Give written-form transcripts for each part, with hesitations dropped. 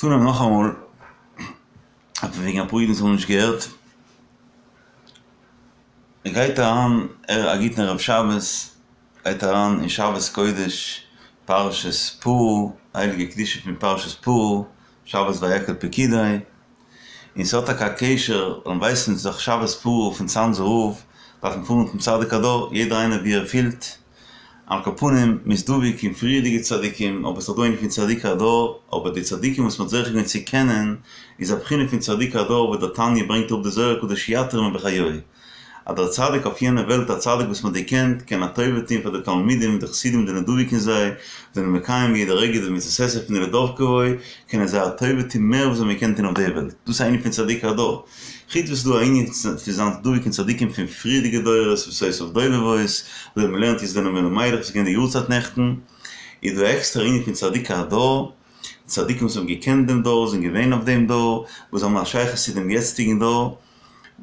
צונעמען נאכאמאל וועגן אפאר אידן וואס האבן נישט געהערט. מען גייט אריין א גוטן ערב שבת, גייט אריין אין שבת קודש פרשת פרה, הייליגע קדושה פון פרשת פרה, שבת ויקהל פקודי, און ס'האט טאקע א קשר, און ווייסן זיך שבת פרה פון צאנזער רב, דארף מען פארן צום צדיק הדור, יעדער איינער ווי ער פילט, על כל פנים, מ'איז דבוק אין פריערדיגע צדיקים, אבער ס'איז דא ענין פון צדיק הדור, אבער די צדיקים וואס מ'האט זוכה געווען צו קענען, איז א בחינה פון צדיק הדור וואס דער תניא ברענגט אראפ די זוהר הקדוש יתיר מבחיוהי. אז דער צדיק אויף יענע וועלט, א צדיק וואס מ'האט געקענט, קען א טובה טון פאר די תלמידים, די חסידים זענען דבוק אין זיי, זענען מקיים יעדע רגע די מצות עשה פון די לדבקה בו, קענען זיי א טובה טון מער וואס זיי האבן געקענט טון אויף די וועלט. דאס איז א ענין פון צדיק הדור. חוץ וואס ס'איז דא א ענין פון זיין דבוק אין צדיקים פון פריערדיגע דורות שפתותיו דובבות, אזוי ווי מ'לערנט יעצט דעם אלימלך וואס איז געווען די יארצייט נעכטן, איז דא עקסטער ענין פון צדיק הדור, צדיקים וואס האבן געקענט דעם דור, זענען געווען אויף דעם דור, וואס האבן א שייכות צו דעם יעצטיגן דור,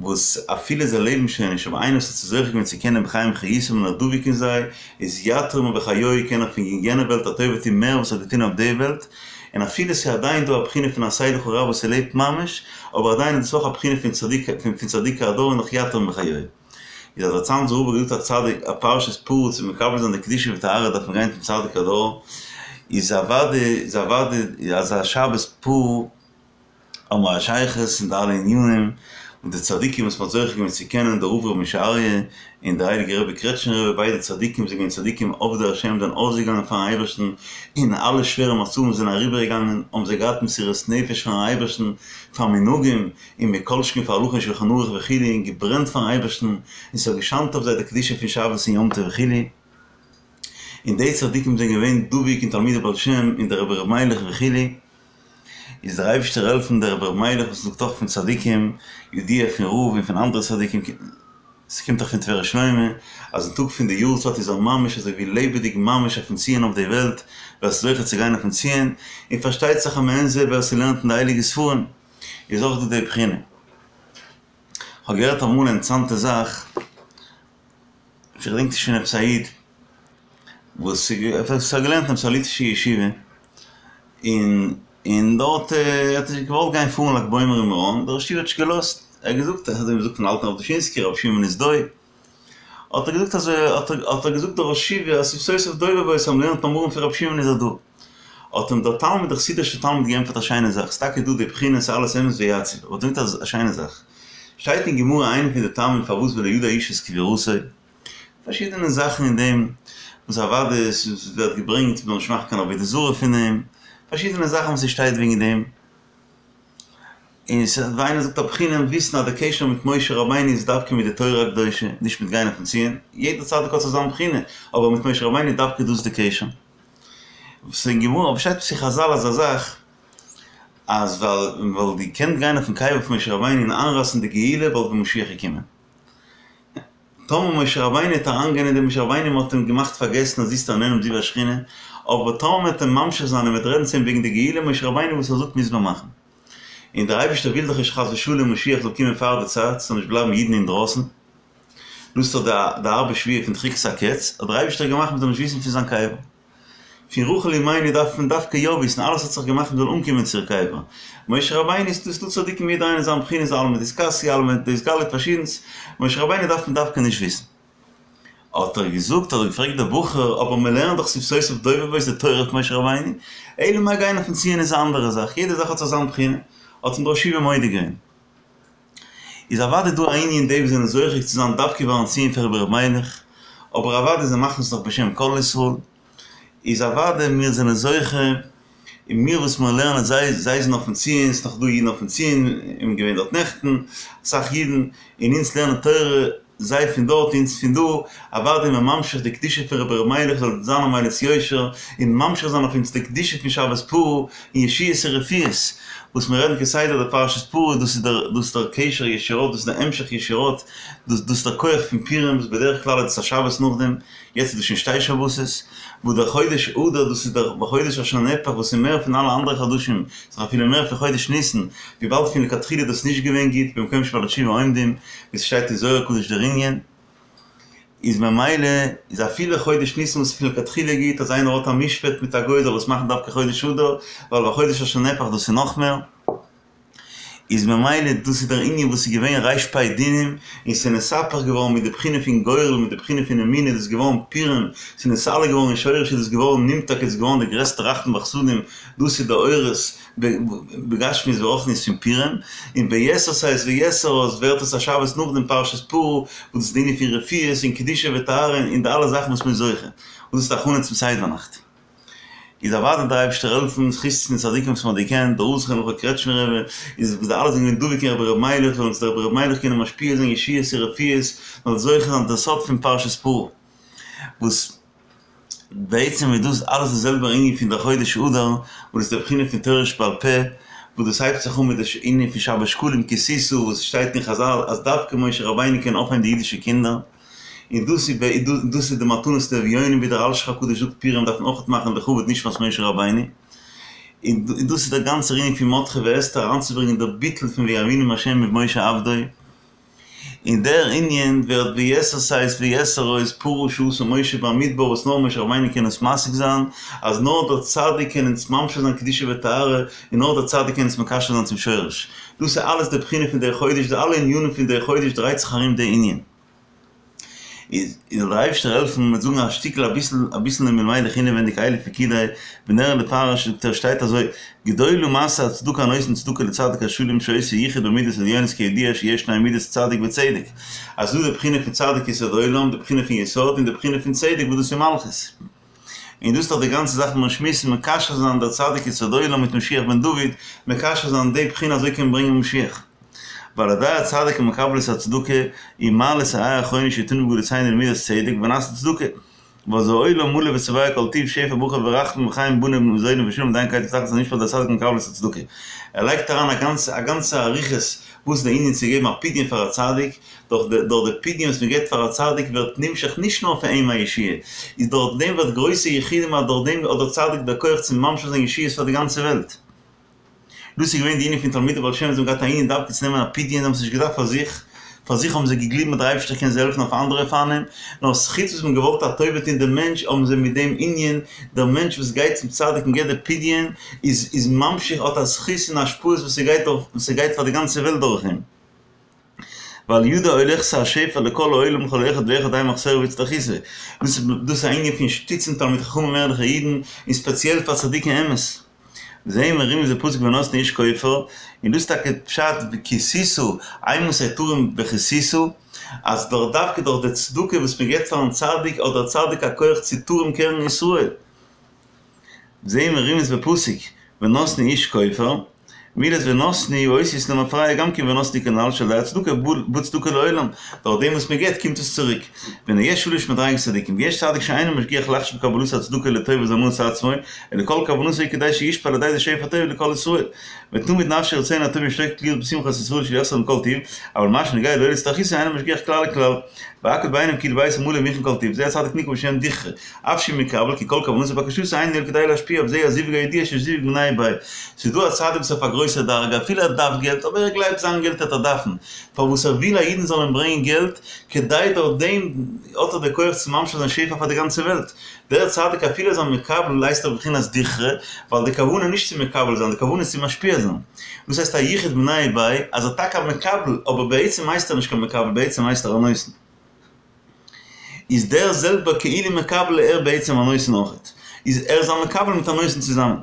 וואס אפילו זיי לעבן שוין נישט, אבער איינער וואס האט זיך זוכה געווען צו קענען בחיים חיותם און איז דבוק אין זיי, איז יתיר מבחיוהי קען ער פון יענע וועלט א טובה טון מער וואס ער האט געטון אויף די וועלט, און אפילו ס'איז עדיין דא א בחינה פון עשה לך רב וואס ס'לעבט ממש, אבער עדיין איז דאס אויך א בחינה פון צדיק פון צדיקי הדור און נאך יתיר מבחיוהי. איז אז דער צאנזער רב האט געזאגט א צדיק א פרשת פרה צו מקבל זיין די קדושה וטהרה דארף מען גיין צום צדיק הדור, איז אוודאי איז אוודאי אז א שבת פרה האבן מיר א שייכות אין די אלע ענינים, און די צדיקים וואס מ'האט זוכה געווען צו קענען, דער רב ר' משה אריה און דער הייליגער רבי קרעטשניפער רבי, ביידע צדיקים זענען געווען צדיקים עובדי השם, זענען אויסגעגאנגען פארן אייבערשטן, און אלע שווערע מצבים זענען אריבערגעגאנגען, האבן זיי געהאט מסירות נפש פארן אייבערשטן, פאר מנהגים, און מכל שכן פאר הלכה אין שלחן ערוך וכו', און געברענט פארן אייבערשטן, און ס'האט געשיינט אויף זיי די קדושה פון שבת און יום טוב וכו'. און די צדיקים זענען געווען דבוק אין תלמידי בעל שם און דער רבי ר' מיילעך וכו'. איז דער אייבערשטער העלפן דער רבי ר' מיילעך וואס זאגט אויך פון צדיקים, ידוע פון רב און פון אנדערע צדיקים, ס'קומט דאך פון תפארת שלמה, אז אין טאג פון די יארצייט איז ער ממש אזוי ווי לעבעדיג ממש אויפן ציון אויף די וועלט, ווער ס'איז זוכה צו גיין אויפן ציון, און פארשטייט זיך אז מעין זה ווער ס'לערנט אין די הייליגע ספרים, איז אויך דא די בחינה. כ'האב געהערט אמאל א אינטערעסאנטע זאך. כ'געדענק נישט פון עפעס א איד וואס האט געלערנט אין עפעס א ליטווישע ישיבה, און און דארט האט ער געוואלט גיין פארן לג בעומר אין מירון, דער ראש ישיבה האט נישט געלאזט, ער האט געזאגט אזוי ווי מ'זאגט פון אלטן רב דושינסקי רבי שמעון איז דוי, האט ער געזאגט אזוי האט ער געזאגט דער ראש ישיבה אז שפתותיו דובבות אז מ'לערנט מאמרים פון רבי שמעון איז ער דא. האט אים דער תלמיד, דער חסידישער תלמיד געענטפערט א שיינע זאך, ס'איז טאקע דא די בחינה, ס'איז אלעס אמת ויציב, אבער האט געזאגט א שיינע זאך, שטייט אין גמרא איינע פון די טעמים פארוואס ולא ידע איש את קבורתו, פארשידענע זאכן אין דעם, וואס אוודאי עס ווערט געברענגט מ'זאל נישט מאכן קיין עבודה זרה פון אים, פארשידענע זאכן וואס עס שטייט וועגן דעם, און ווי איינער זאגט א בחינה און וויסן אז די קשר מיט משה רבינו איז דווקא מיט די תורה הקדושה, נישט מיט גיין אויפן ציון, יעדער צדיק האט זיך זיין בחינה, אבער מיט משה רבינו איז דווקא דאס די קשר. וואס אין גמרא אבער שטייט אין חזל אזא זאך אז ווייל מען וואלט געקענט גיין אויפן קבר פון משה רבינו און איינרייסן די גאולה וואלט ווען משיח געקומען. טאמער משה רבינו וועט אריינגיין אין דעם משה רבינו מען האט אים געמאכט פארגעסן אז איצטער איננו זיו השכינה, אבער טאמער מען וועט אים ממשיך זיין און מען וועט רעדן צו אים וועגן די גאולה משה רבינו וואס ער זאגט מוז מען מאכן. און דער אייבערשטער וויל דאך נישט חס ושלום משיח זאל קומען פאר די צייט, ס'זאל נישט בלייבן אידן אינדרויסן. דאס איז דאך די הארבע שבועה פון דחיקת הקץ, האט דער אייבערשטער געמאכט מען זאל נישט וויסן פון זיין קבר. פון רחל אמנו דארף מען דווקא יא וויסן, אלעס האט זיך געמאכט מען זאל אנקומען צו איר קבר. משה רבינו איז דא צדיקים יעדער איינער אין זיין בחינה איז עלמא דאתכסיא עלמא דאתגלי פארשידענס, משה רבינו דארף מען דווקא נישט וויסן. האט ער געזאגט, האט ער געפרעגט דער בחור, אבער מען לערנט דאך שפתותיו דובבות די תורה פון משה רבינו, אלא מאי גיין אויפן ציון איז א אנדערע זאך, יעדע זאך האט זיך זיין בחינה, האט אים דער ראש ישיבה מודה געווען. איז אוודאי דא א ענין די וואס זענען זוכה צו זיין דווקא ביים ציון פון רבי ר' מיילעך, אבער אוודאי זיי מאכן עס נאך בשם כל ישראל, איז אוודאי מיר זענען זוכה, און מיר וואס מיר לערנען זיי זיי זענען אויפן ציון, ס'איז נאך דא אידן אויפן ציון, און געווען דארט נעכטן אסאך אידן, און אונז לערנען תורה, זיי פון דארט אונז פון דא, אוודאי מען ממשיך די קדושה פון רבי ר' מיילעך זאל זיין א מליץ יושר, און ממשיך זיין אויף אונז די קדושה פון שבת פרה, און ישועות און רפואות, וואס מיר רעדן כסדר די פרשת פרה, דאס איז דער דאס איז דער קשר ישירות, דאס איז דער המשך ישירות, דאס דאס איז דער כח פון פורים וואס בדרך כלל איז עס א שבת נאכדעם, יעצט איז דאס שוין שתי שבתות, וואס דער חודש אדר דאס איז דער בחודש אשר נהפך וואס איז מער פון אלע אנדערע חדשים, ס'איז אפילו מער פון חודש ניסן, וויבאלד פון לכתחילה איז דאס נישט געווען גוט במקום שבעלי תשובה עומדים, ווי ס'שטייט אין זוהר הקדוש דער ענין. איז ממילא איז אפילו חודש ניסן וואס איז פון לכתחילה גוט אז איינער האט א משפט מיט א גוי זאל עס מאכן דווקא חודש אדר, ווייל בחודש אשר נהפך דאס איז נאך מער. איז ממילא דאס איז דער ענין וואס איז געווען רפ"ב דינים, און ס'איז נתהפך געווארן מיט די בחינה פון גורל מיט די בחינה פון אמונה איז דאס געווארן פורים, ס'איז נתעלה געווארן אין שורש איז דאס געווארן נמתק איז געווארן די גרעסטע רחמים וחסדים, דאס איז די אורות בגשמיות ורוחניות פון פורים, און ביתר שאת ויתר עוז ווערט עס א שבת נאך דעם פרשת פרה, וואס דאס איז די ענין פון רפואות און קדושה וטהרה און די אלע זאכן וואס מ'איז זוכה, און דאס איז די הכנה צום סדר נאכט. איז אוודאי דער אייבערשטער העלפן, זכות פון צדיקים וואס מען האט געקענט, דער רב זכרונו לברכה קרעטשמער רבי, איז וואס די אלע זענען געווען דבוק אין רבי ר' מיילעך, זאל אונז דער רבי ר' מיילעך קענען משפיע זיין ישועות און רפואות, מען זאל זוכה זיין דער סוד פון פרשת פרה, וואס בעצם איז דאס אלעס די זעלבער ענין פון דער חודש אדר, וואס איז די בחינה פון תורה שבעל פה, וואס דאס הייבט זיך אן מיט די ענין פון שבת שקלים כי תשא, וואס שטייט אין חזל אז דווקא משה רבינו קען אויפהייבן די אידישע קינדער. און דאס איז דאס איז די מתנות לאביונים ווי דער אלשיך הקדוש זאגט פורים דארף מען אויך מאכן לכבוד נשמת משה רבינו, און דאס איז דער גאנצער ענין פון מרדכי ואסתר אריינצוברענגען דער ביטול פון ויאמינו בה' ובמשה עבדו, און דער ענין ווערט ביתר שאת ויתר עוז פרה שעשה משה במדבר וואס נאר משה רבינו קען עס משיג זיין, אז נאר דער צדיק קען אונז ממשיך זיין קדושה וטהרה, און נאר דער צדיק קען אונז מקשר זיין צום שורש. דאס איז אלעס די בחינה פון דער חודש, די אלע ענינים פון דער חודש דרייט זיך ארום די ענין. איז זאל דער אייבערשטער העלפן מ'וועט זאגן א שטיקל אביסל אביסל אין מיילעך אינעווענדיג אלה פקודי ונראה לפרש זאגט ער שטייט אזוי גדולה מעשה הצדקה הנותן צדקה לצדיק השלם שעושה יחוד במידות עליונות כידוע שיש שני מידות צדיק וצדק אז ס'דא די בחינה פון צדיק יסוד עולם די בחינה פון יסוד און די בחינה פון צדק וואס דאס איז מלכות. און דאס איז דאך די גאנצע זאך וואס מיר שמועסן, מקשר זיין דער צדיק יסוד עולם מיט משיח בן דוד, מקשר זיין די בחינה אזוי קען מען ברענגען משיח. ועל ידי הצדיק המקבל את הצדקה הוא מעלה את הה' האחרונה שיתנו בגלותינו למידת צדק ונעשה צדקה. ואז העולם מלא ושבע כל טוב שפע ברכה ורחמים וחיים בני מזוני ושלום עד אין קץ ותכלית המשפט על ידי הצדיק המקבל את הצדקה. ער לייגט אריין א גאנצע א גאנצע אריכות וואס איז די ענין צו געבן א פדיון פאר א צדיק, דורך די דורך די פדיון וואס מען געבט פאר א צדיק ווערט נמשך נישט נאר פאר אים א ישועה, איז דורך דעם ווערט גרויסע יחודים אז דורך דעם האט דער צדיק דער כח צו ממשיך זיין ישועות פאר די גאנצע וועלט. דאס איז געווען די ענין פון תלמידי בעל שם וואס האבן געהאט א ענין דווקא צו נעמען א פדיון, זיי האבן עס נישט געדארפט פאר זיך, פאר זיך האבן זיי געגליבן אז דער אייבערשטער קען זיי העלפן אויף אנדערע אופנים, נאר חוץ וואס מען האט געוואלט א טובה טון דעם מענטש האבן זיי מיט דעם ענין, דער מענטש וואס גייט צום צדיק און געבט די פדיון איז איז ממשיך האט א זכות און השפעות וואס ס'גייט דורך וואס ס'גייט פאר די גאנצע וועלט דורך אים. ועל ידו הולכת השפע לכל העולם לכל אחד ואחד די מחסורו והצטרכותו. דאס איז א ענין פון שטיצן תלמידי חכמים ערליכע אידן, און ספעציעל פאר צדיקי אמת. וזה מרומז בפסוק ונתנו איש כופר, און דאס איז טאקע פשט כי תשא, אימתי תרים וכי תשא, אז דורך דווקא דורך די צדקה וואס מען געבט פארן צדיק האט דער צדיק א כח צו תרים קרן ישראל. זה מרומז בפסוק ונתנו איש כופר, מילת ונתנו אותיות למפרע גם כן ונתנו כנ"ל שעל ידי הצדקה בא צדקה לעולם, דורך דעם וואס מען געבט קומט עס צוריק. והנה יש שלש מדריגות צדיקים, ויש צדיק שאינו משגיח לחשוב קבלת הצדקה לטובת הנאת עצמו, אלא כל כוונתו היא כדי שישפיע על ידי זה שפע טוב לכל ישראל. ותמיד נפשו רצונו הטוב משתוקק להיות בשמחת ישראל שיחסר להם כל טוב, אבל מה שנוגע לו להצטרכותו אינו משגיח כלל וכלל, והכל בעיניו כאילו ביתו מלא ומוכן כל טוב, זה הצדיק נקרא בשם דכרא, אף שהוא מקבל כי כל כוונתו ובקשתו אינה אלא כדי להשפיע וזה הזיווג הידוע שיש זיווג מיניה וביה. ס'איז דא א צדיק וואס איז אויף א גרויסע דרגה אפילו ער דארף געלט אבער ער גלייבט זיין געלט וועט ער דארפן פארוואס ער וויל אז אידן זאלן אים ברענגען געלט כדי דורך דעם האט ער די כח צו ממשיך זיין שפע פאר די גאנצע וועלט. דער צדיק אפילו איז א מקבל הייסט ער בבחינת דכרא ווייל די כוונה איז נישט צו מקבל זיין די כוונה איז צו משפיע זיין. דאס הייסט א יחוד מיניה וביה אז ער טאקע א מקבל אבער בעצם הייסט ער נישט קיין מקבל בעצם הייסט ער א נותן. איז דער זעלבער כאילו מקבל ער בעצם א נותן אויכעט, איז ער איז א מקבל מיט א נותן צוזאמען.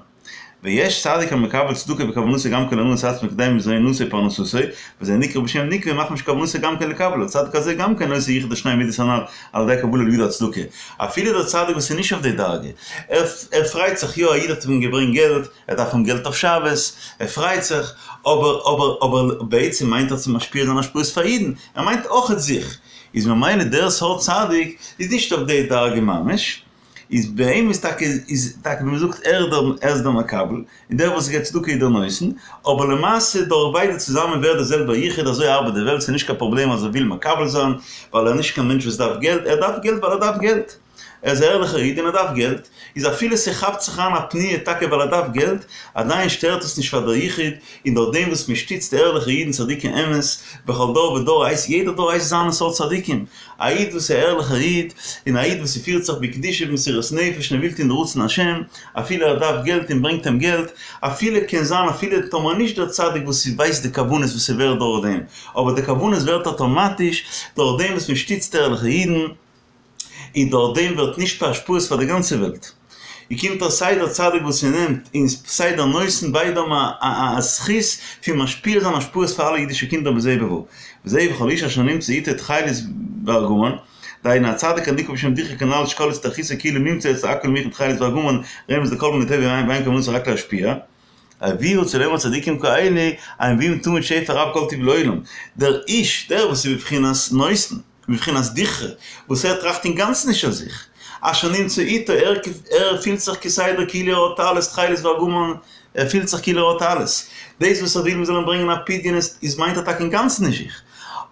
ויש צדיק המקבל צדקה וכוונתו גם כן להנאת עצמו כדי מזונותו ופרנסתו, וזה נקרא בשם נקבה מחמת שכוונתו גם כן לקבל, הצדיק הזה גם כן עושה יחוד השני מידות הנ"ל על ידי קבלה לידו הצדקה. אפילו דער צדיק וואס איז נישט אויף די דרגה, ער ער פרייט זיך יא א איד האט אים געברענגט געלט, ער דארף האבן געלט אויף שבת, ער פרייט זיך, אבער אבער אבער בעצם מיינט ער צו משפיע זיין השפעות פאר אידן, ער מיינט אויכעט זיך, איז ממילא דער סארט צדיק איז נישט אויף די דרגה ממש, איז ביי אים איז טאקע איז טאקע ווי מ'זאגט ער דער ער איז דער מקבל, און דער וואס געבט צדקה איז דער נותן, אבער למעשה דורך ביידע צוזאמען ווערט דער זעלבער יחוד, אזוי ארבעט די וועלט, ס'איז נישט קיין פראבלעם אז ער וויל מקבל זיין ווייל ער איז נישט קיין מענטש וואס דארף געלט, ער דארף געלט ווייל ער דארף געלט. ער איז א ערליכער איד און ער דארף געלט, איז אפילו ס'כאפט זיך אריין א פניה טאקע ווייל ער דארף געלט, עדיין שטערט עס נישט פאר דער יחוד, און דורך דעם וואס מ'שטיצט ערליכע אידן צדיקי אמת, בכל דור ודור הייסט יעדער דור הייסט זיינע סארט צדיקים, א איד וואס איז א ערליכער איד, און א איד וואס ס'פירט זיך בקדושה ובמסירות נפש און ער וויל טון די רצון השם, אפילו ער דארף געלט און ברענגט אים געלט, אפילו קען זיין אפילו טאמער נישט דער צדיק וואס ווייסט די כוונות וואס ס'ווערט דורך דעם, אבער די כוונות ווערט אטאמאטיש דורך דעם וואס מ'שטיצט ערליכע אידן, און דורך דעם ווערט נשפע השפעות פאר די גאנצע וועלט. און קומט אויס סיי דער צדיק וואס ס'נעמט און סיי דער נותן ביידע האבן א זכות פון משפיע זיין השפעות פאר אלע אידישע קינדער בזה ובבא. וזה וכל איש אשר נמצא איתו תכלת וארגמן, דהיינו הצדיק הנקרא בשם דכרא כנ"ל שכל הצטרכותו כאילו נמצא אצלו הכל מוכן תכלת וארגמן רמז לכל מיני טוב ואין כוונתו רק להשפיע. הביאו רוצה לומר צדיקים כאלה הם מביאים תמיד שפע רב כל טוב לעולם. דער איש, דער וואס איז בבחינת נותן, בבחינת דכרא, וואס ער טראכט אינגאנצן נישט אויף זיך, אשר נמצא איתו, ער ער פילט זיך כסדר כאילו ער האט אלעס, תכלת וארגמן, ער פילט זיך כאילו ער האט אלעס. דאס וואס ער וויל מ'זאל אים ברענגען א פדיון איז מיינט ער טאקע אינגאנצן נישט זיך.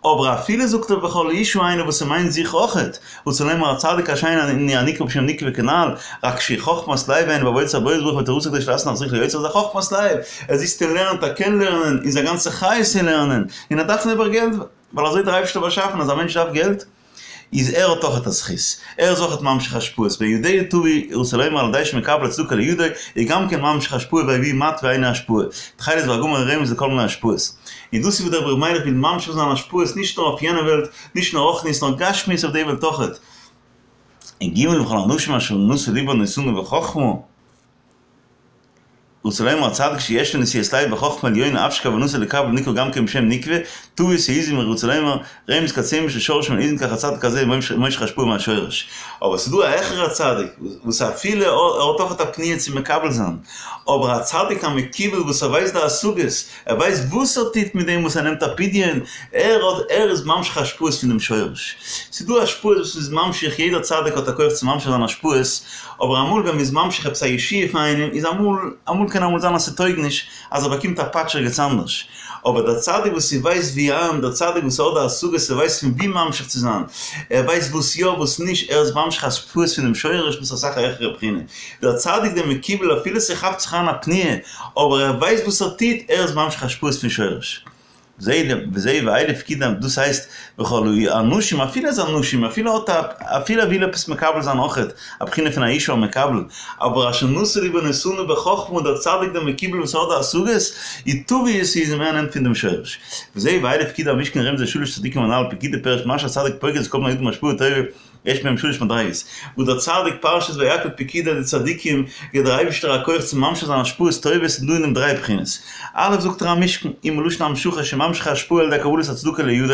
אבער אפילו זאגט ער וכל אשה איינער וואס ס'מיינט זיך אויכעט, רוצה לומר הצדיק השני הנקרא בשם נוקבא כנ"ל, רק שחכמת לב היינו בעבודת הבורא יתברך ותורתו כדי שלא להכריח ליוצר זה חכמת לב, ער זיצט און לערנט, ער קען לערנען, און זיין גאנצע חיות איז לערנען, און ער דארף נעבעך געלט, ווייל אזוי האט דער אייבערשטער באשאפן אז א מענטש דארף געלט, איז ער האט אויכעט א זכות, ער איז אויכעט ממשיך השפעות, בידו טובי רוצה לומר על ידי שמקבל הצדקה לידו, איז גם כן ממשיך השפעה ויביא מטוה היינו השפעה, תכלת וארגמן רמז לכל מיני השפעות. און דאס איז וואס דער רבי ר' מיילעך וויל ממשיך זיין השפעות נישט נאר אויף יענע וועלט, נישט נאר רוחניות נאר גשמיות אויף די וועלט אויכעט. און ג' וכל האנשים אשר נשא לבם נתונה בחכמה. רוצה לומר הצדיק שיש לו נשיאת לב וחכמה עליונה אף שכוונתו לקבל נקרא גם כן בשם נוקבא, טווית העזים רוצה לומר רמז כצמח ששורשו מן העזים כך הצדיק הזה מושך השפעה מהשורש. אבער ס'איז דא א העכערע צדיק וואס אפילו ער האט אויך א פניה צו מקבל זיין, אבער א צדיק המקובל וואס ער ווייסט די השגות, ער ווייסט וואס ער טוט מיט דעם וואס ער נעמט א פדיון, ער האט ער איז ממשיך השפעות פון דעם שורש. ס'איז דא השפעות וואס מ'איז ממשיך, יעדער צדיק האט א כח צו ממשיך זיין השפעות, אבער אמאל ווען מ'איז ממשיך עפעס א ישועה פאר איינעם איז אמאל, אמאל קען אמאל זיין אז ס'טויג נישט, אז ער באקומט א פאטש ערגעץ אנדערש. אבער דער צדיק וואס ס'ווייסט ווי איין, דער צדיק וואס האט די השגות, ער ווייסט פון ווי ממשיך צו זיין, ער ווייסט וואס יא וואס נישט, ער איז ממשיך השפעות פונעם שורש, דאס איז אסאך א העכערע בחינה. דער צדיק דער מקובל אפילו ס'כאפט זיך אריין א פניה, אבער ער ווייסט וואס ער טוט, ער איז ממשיך השפעות פון שורש. וזה וזה ואלה פקודי, דאס הייסט וכל האנשים אפילו אז אנשים אפילו האט א אפילו ער וויל עפעס מקבל זיין אויכעט א בחינה פון א אשה המקבל, אבער אשר נשא לבו נתונה בחכמה דער צדיק דער מקובל וואס האט די השגות, איז טווית העזים ער נעמט פון דעם שורש. וזה ואלה פקודי המשכן רמז לשלש צדיקים הנ"ל פקודי פירוש מה שהצדיק פוקד את כל בני האדם בהשפעה טובה יש בהם שלש מדריגות, וואס דער צדיק פרשת ויקהל פקודי די צדיקים גיט דער אייבישטער א כח צו ממשיך זיין השפעות טובות איז דא אין דעם דריי בחינות, א' זאגט ער המשכן הוא מלשון המשכה שממשיך ההשפעה על ידי קבלת הצדקה לידו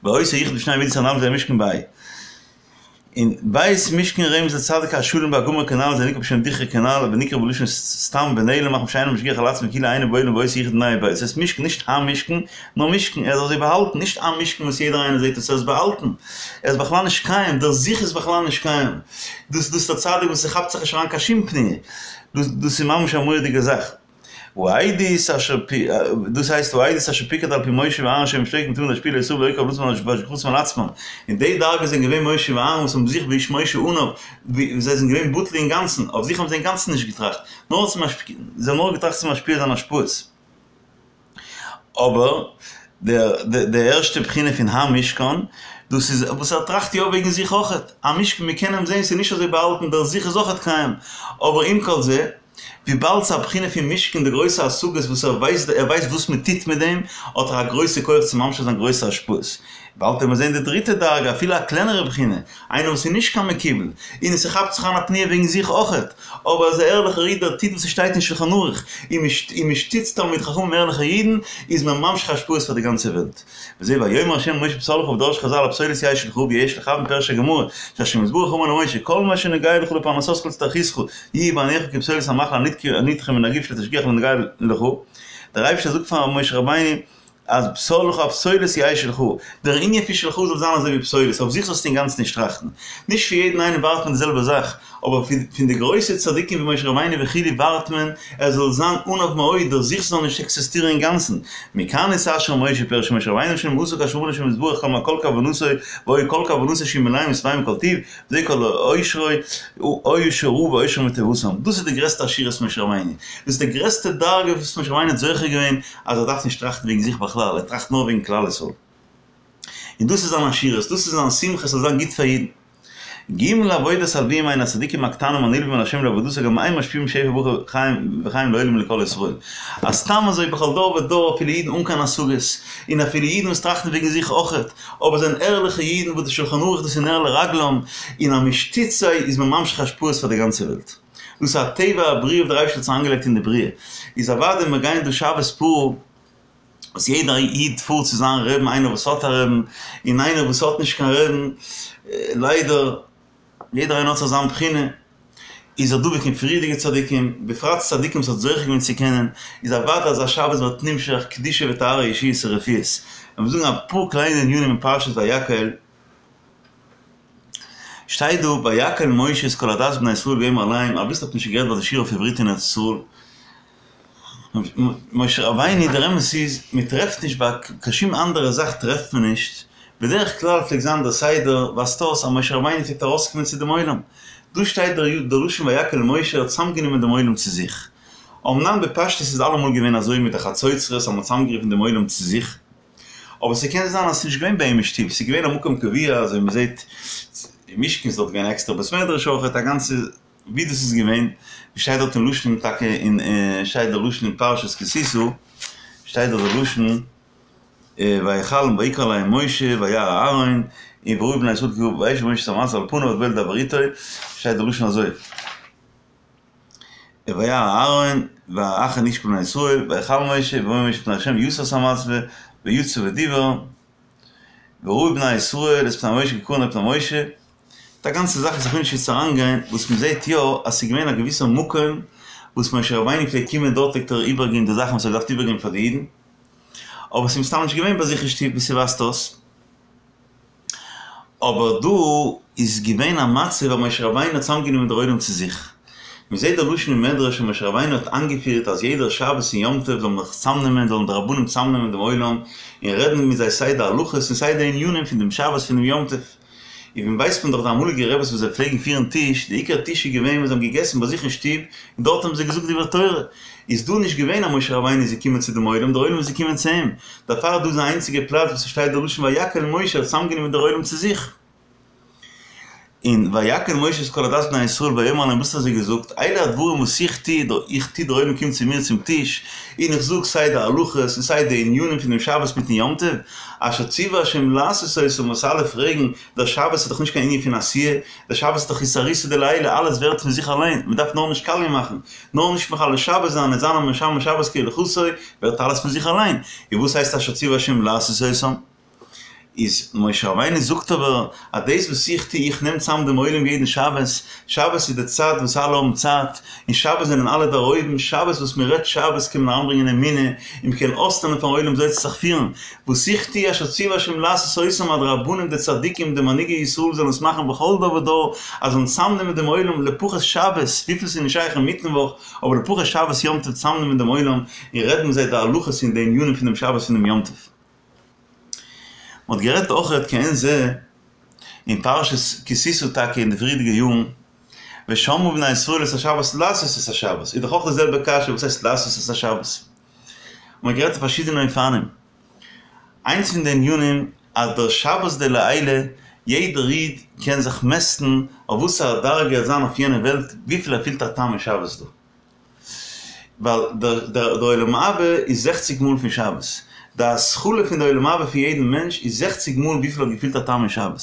ועושה יחוד בשני מידות הנ"ל וזה משכן ב' און ב' משכן רמז לצדיק השלם והגמור כנ"ל זה נקרא בשם דכרא כנ"ל ונקרא בלשון סתם ונעלם מחמת שאינו משגיח על עצמו כאילו אינו בעולם ועושה יחוד בני ב' עס הייסט משכן נישט המשכן נאר משכן, ער איז אזוי באהאלטן, נישט א משכן וואס יעדער איינער זעט עס, ער איז באהאלטן, ער איז בכלל נישט קיים, דער זיך איז בכלל נישט קיים, דאס דאס איז דער צדיק וואס ס'כאפט זיך נישט אריין קיין שום פניה, דאס דאס איז ממש א מורא'דיגע זאך. והעדות אשר פ דאס הייסט והעדות אשר פיקד על פי משה ואהרן שהם שוקדים תמיד להשפיע לישראל ולא כוונתם והשגחתם על עצמם, און די דרגה זענען געווען משה ואהרן וואס האבן זיך ואיש משה עניו, ווי זיי זענען געווען בטל אינגאנצן, אויף זיך האבן זיי אינגאנצן נישט געטראכט, נאר צו משפיע, זיי האבן נאר געטראכט צו משפיע זיין השפעות. אבער די ערשטע בחינה פון המשכן, דאס איז וואס ער טראכט יא וועגן זיך אויכעט, א משכן מען קען אים זען ס'איז נישט אזוי באהאלטן דער זיך איז אויכעט קיים, אבער עם כל זה, וויבאלד ס'איז א בחינה פון משכן די גרויסע השגות וואס ער ווייסט ער ווייסט וואס מען טוט מיט דעם, האט ער א גרויסע כח צו ממשיך זיין גרויסע השפעות. באלד וועט מען זען די דריטע דרגה, אפילו א קלענערע בחינה, איינער וואס איז נישט קיין מקובל, און עס כאפט זיך אריין א פניה וועגן זיך אויכעט, אבער ער איז א ערליכער איד ער טוט וואס עס שטייט אין שלחן ערוך, און מען שטיצט תלמידי חכמים ערליכע אידן, איז מען ממשיך השפעות פאר די גאנצע וועלט. וזה ויאמר ה' אל משה פסל לך ודרשו חז"ל הפסולת יהא שלך ויש לכוון פירש הגמרא שהשם יתברך אמר למשה כל מה שנוגע לך לפרנסתך ולהצטרכותך יהיה בעיניך כפסולת המאכל הנדחה מן הגוף שלא תשגיח לנוגע לך, דער אייבערשטער זאגט פאר משה רבינו. אז פסל לך הפסולת יהא שלך, דער ענין פון שלך זאל זיין אזוי ווי פסולת, אויף זיך זאלסטו אינגאנצן נישט טראכטן. נישט פון יעדן איינעם ווארט מען די זעלבע זאך, אבער פון די גרויסע צדיקים ווי משה רבינו וכו' ווארט מען ער זאל זיין עניו מאוד, דער זיך זאל נישט עקזיסטירן אינגאנצן. מכאן נתעשר משה פירש משה רבינו שנמאסו כאשר אמר השם יתברך כל מה כל כוונתו והיה כל כוונתו שיהיו מלאים ושבעים מכל טוב, זה כל עושרו, היה שראה בעושרם ובטובתם. דאס איז די גרעסטע עשירות משה רבינו. דאס איז די גרעסטע דרגה וואס משה רבינו האט זוכה געווען אז ער דארף נישט טראכטן וועגן זיך בכלל, ער טראכט נאר וועגן כלל ישראל. און דאס איז זיין עשירות, דאס איז זיין שמחה, ס'זאל זיין גוט פאר אידן. ג' עבודת הלוים הן הצדיקים הקטנים הנלווים אל השם לעבודתו גם הם משפיעים שפע ברכה חיים וחיים לעולם לכל ישראל. אז סתם אזוי בכל דור ודור אפילו אידן אן קיין השגות, און אפילו אידן וואס טראכטן וועגן זיך אויכעט, אבער זענען ערליכע אידן וואס די שולחן ערוך דאס איז נר לרגלם, און אז מ'שטיצט זיי איז מען ממשיך השפעות פאר די גאנצע וועלט. דאס איז א טבע הבריאה וואס דער אייבערשטער האט אריינגעלייגט אין די בריאה. איז אוודאי מיר גייען דא שבת פרה וואס יעדער איד פארט צו זיין רעבן איינער וואס האט א רעבן און איינער וואס האט נישט קיין רעבן ליידער יעדער איינער האט זיך זיין בחינה איז ער דבוק אין פריערדיגע צדיקים בפרט צדיקים וואס האט זוכה געווען צו קענען איז אוודאי אזא שבת ווערט נמשך קדושה וטהרה ישועות ורפואות. לאמיר זאגן אפאר קליינע ענינים אין פרשת ויקהל. שטייט דא ויקהל משה את כל עדת בני ישראל ויאמר אליהם, אביסל האט מען שוין גערעדט ביי די שיעור אויף עברית אין ארץ ישראל, משה רבינו דער אמת איז מען טרעפט נישט ביי קיין שום אנדערע זאך טרעפט מען נישט, בדרך כלל פלעגט זיין דער סדר ווייזט אויס אז משה רבינו פלעגט ארויסקומען צו דעם עולם, דא שטייט דער לשון ויקהל משה ער האט צוזאמגענומען דעם עולם צו זיך, אמנם בפשטות איז אלעמאל געווען אזוי מיט די חצוצרות אז מען האט צוזאמגערופן דעם עולם צו זיך, אבער ס'קען זיין אז ס'נישט געווען ביי אים אין שטוב, ס'איז געווען א מקום קבוע אזוי ווי מ'זעט אין משכן איז דארט געווען עקסטערע בית מדרש אויכעט א גאנצע ווי דאס איז געווען, ווי שטייט דארט אין לשון טאקע אין שטייט דער לשון אין פרשת כי תשא שטייט דארט דער לשון ויכל ויקרא אליהם משה וירא אהרן און וראו בני ישראל כי וישב משה את המטה על פניו עד בא לדבר איתו שטייט דער לשון אזוי. וירא אהרן ואחר איש כל בני ישראל ויכל משה ויאמר משה לפני ה' ויסר את המצבה ויצא ודיבר וראו בני ישראל את פני משה כי קרן פני משה די גאנצע זאך איז איך וויל נישט יעצט אריינגיין וואס מען זעט יא אז ס'איז געווען א געוויסע מקום וואס משה רבינו פלעגט קומען דארט פלעגט ער איבערגעבן די זאכן וואס ער האט געדארפט איבערגעבן פאר די אידן אבער ס'איז מסתם נישט געווען ביי זיך אין שטוב ווי ס'ווייזט אויס. אבער דא איז געווען א מצב ווען משה רבינו האט צוזאמגענומען דער עולם צו זיך. מען זעט דער לשון אין מדרש ווען משה רבינו האט איינגעפירט אז יעדער שבת און יום טוב זאל מען זיך צוזאמנעמען, זאלן די רבנים צוזאמנעמען דעם עולם און רעדן מיט זיי סיי די הלכות און סיי די ענינים פון דעם שבת פון דעם יום טוב. און ווי ווייסט מען דאך די אמאליגע רעבעס וואס זיי פלעגן פירן טיש, די עיקר טיש איז געווען ווען זיי האבן געגעסן ביי זיך אין שטוב און דארט האבן זיי געזאגט דברי תורה. איז דא נישט געווען אז משה רבינו איז געקומען צו דעם עולם, דער עולם איז געקומען צו אים. דערפאר דא איז די איינציגע פלאץ וואס ס'שטייט דער לשון ויקהל משה האט צוזאמגענומען דער עולם צו זיך. און ויקהל משה את כל עדת בני ישראל ויאמר אליהם וואס האט ער זיי געזאגט, אלה הדברים וואס איך טו, איך טו דער עולם קומט צו מיר צום טיש, און איך זאג סיי די הלכות און סיי די ענינים פון דעם שבת מיטן יום טוב, אשר ציווה השם לעשות אותם וואס אלע פרעגן, דער שבת איז דאך נישט קיין ענין פון עשיה, דער שבת איז דאך אתערותא דלעילא, אלעס ווערט פון זיך אליין, מען דארף נאר נישט קאליע מאכן, נאר נישט מחלל שבת זיין און זיין א משמר שבת כהלכתו, ווערט אלעס פון זיך אליין, און וואס הייסט אשר ציווה השם לעשות אותם? איז משה רבינו זאגט אבער אז דאס וואס איך טו, איך נעם צאם דעם עולם יעדן שבת, שבת איז די צייט וואס אלע האבן צייט, און שבת זענען אלע דערהויבן, שבת וואס מען רעדט שבת קען מען אריינברענגען אמונה, און מען קען אויסלערנען פארן עולם וויאזוי צו זיך פירן, וואס איך טו אשר ציווה השם לעשות אותם אז די רבנים די צדיקים די מנהיגי ישראל זאלן עס מאכן בכל דור ודור אז זאלן צאמנעמען דעם עולם לפחות שבת, וויפיל ס'איז נישט שייך אינמיטן וואך, אבער לפחות שבת יום טוב צאמנעמען דעם עולם און רעדן מיט זיי די הלכות און די ענינים פון דעם שבת און דעם יום טוב. מ'האט גערעדט אויכעט כעין זה אין פרשת כי תשא טאקע אין די פריערדיגע יארן, ושמרו בני ישראל את השבת לעשות את השבת, איז דאך אויך די זעלבע קשיא וואס הייסט לעשות את השבת? מ'האט גערעדט אויף פארשידענע אופנים, איינס פון די ענינים אז דער שבת דלעילא, יעדער איד קען זיך מעסטן אויף וואסערע דרגה ער וועט זיין אויף יענע וועלט וויפיל ער פילט א טעם אין שבת דא. ווייל דער עולם הבא איז זעכציג מאל פון שבת, די התחלה פון די עולם הבא פון יעדן מענטש איז זעכציג מאל וויפיל ער האט געפילט א טעם אין שבת.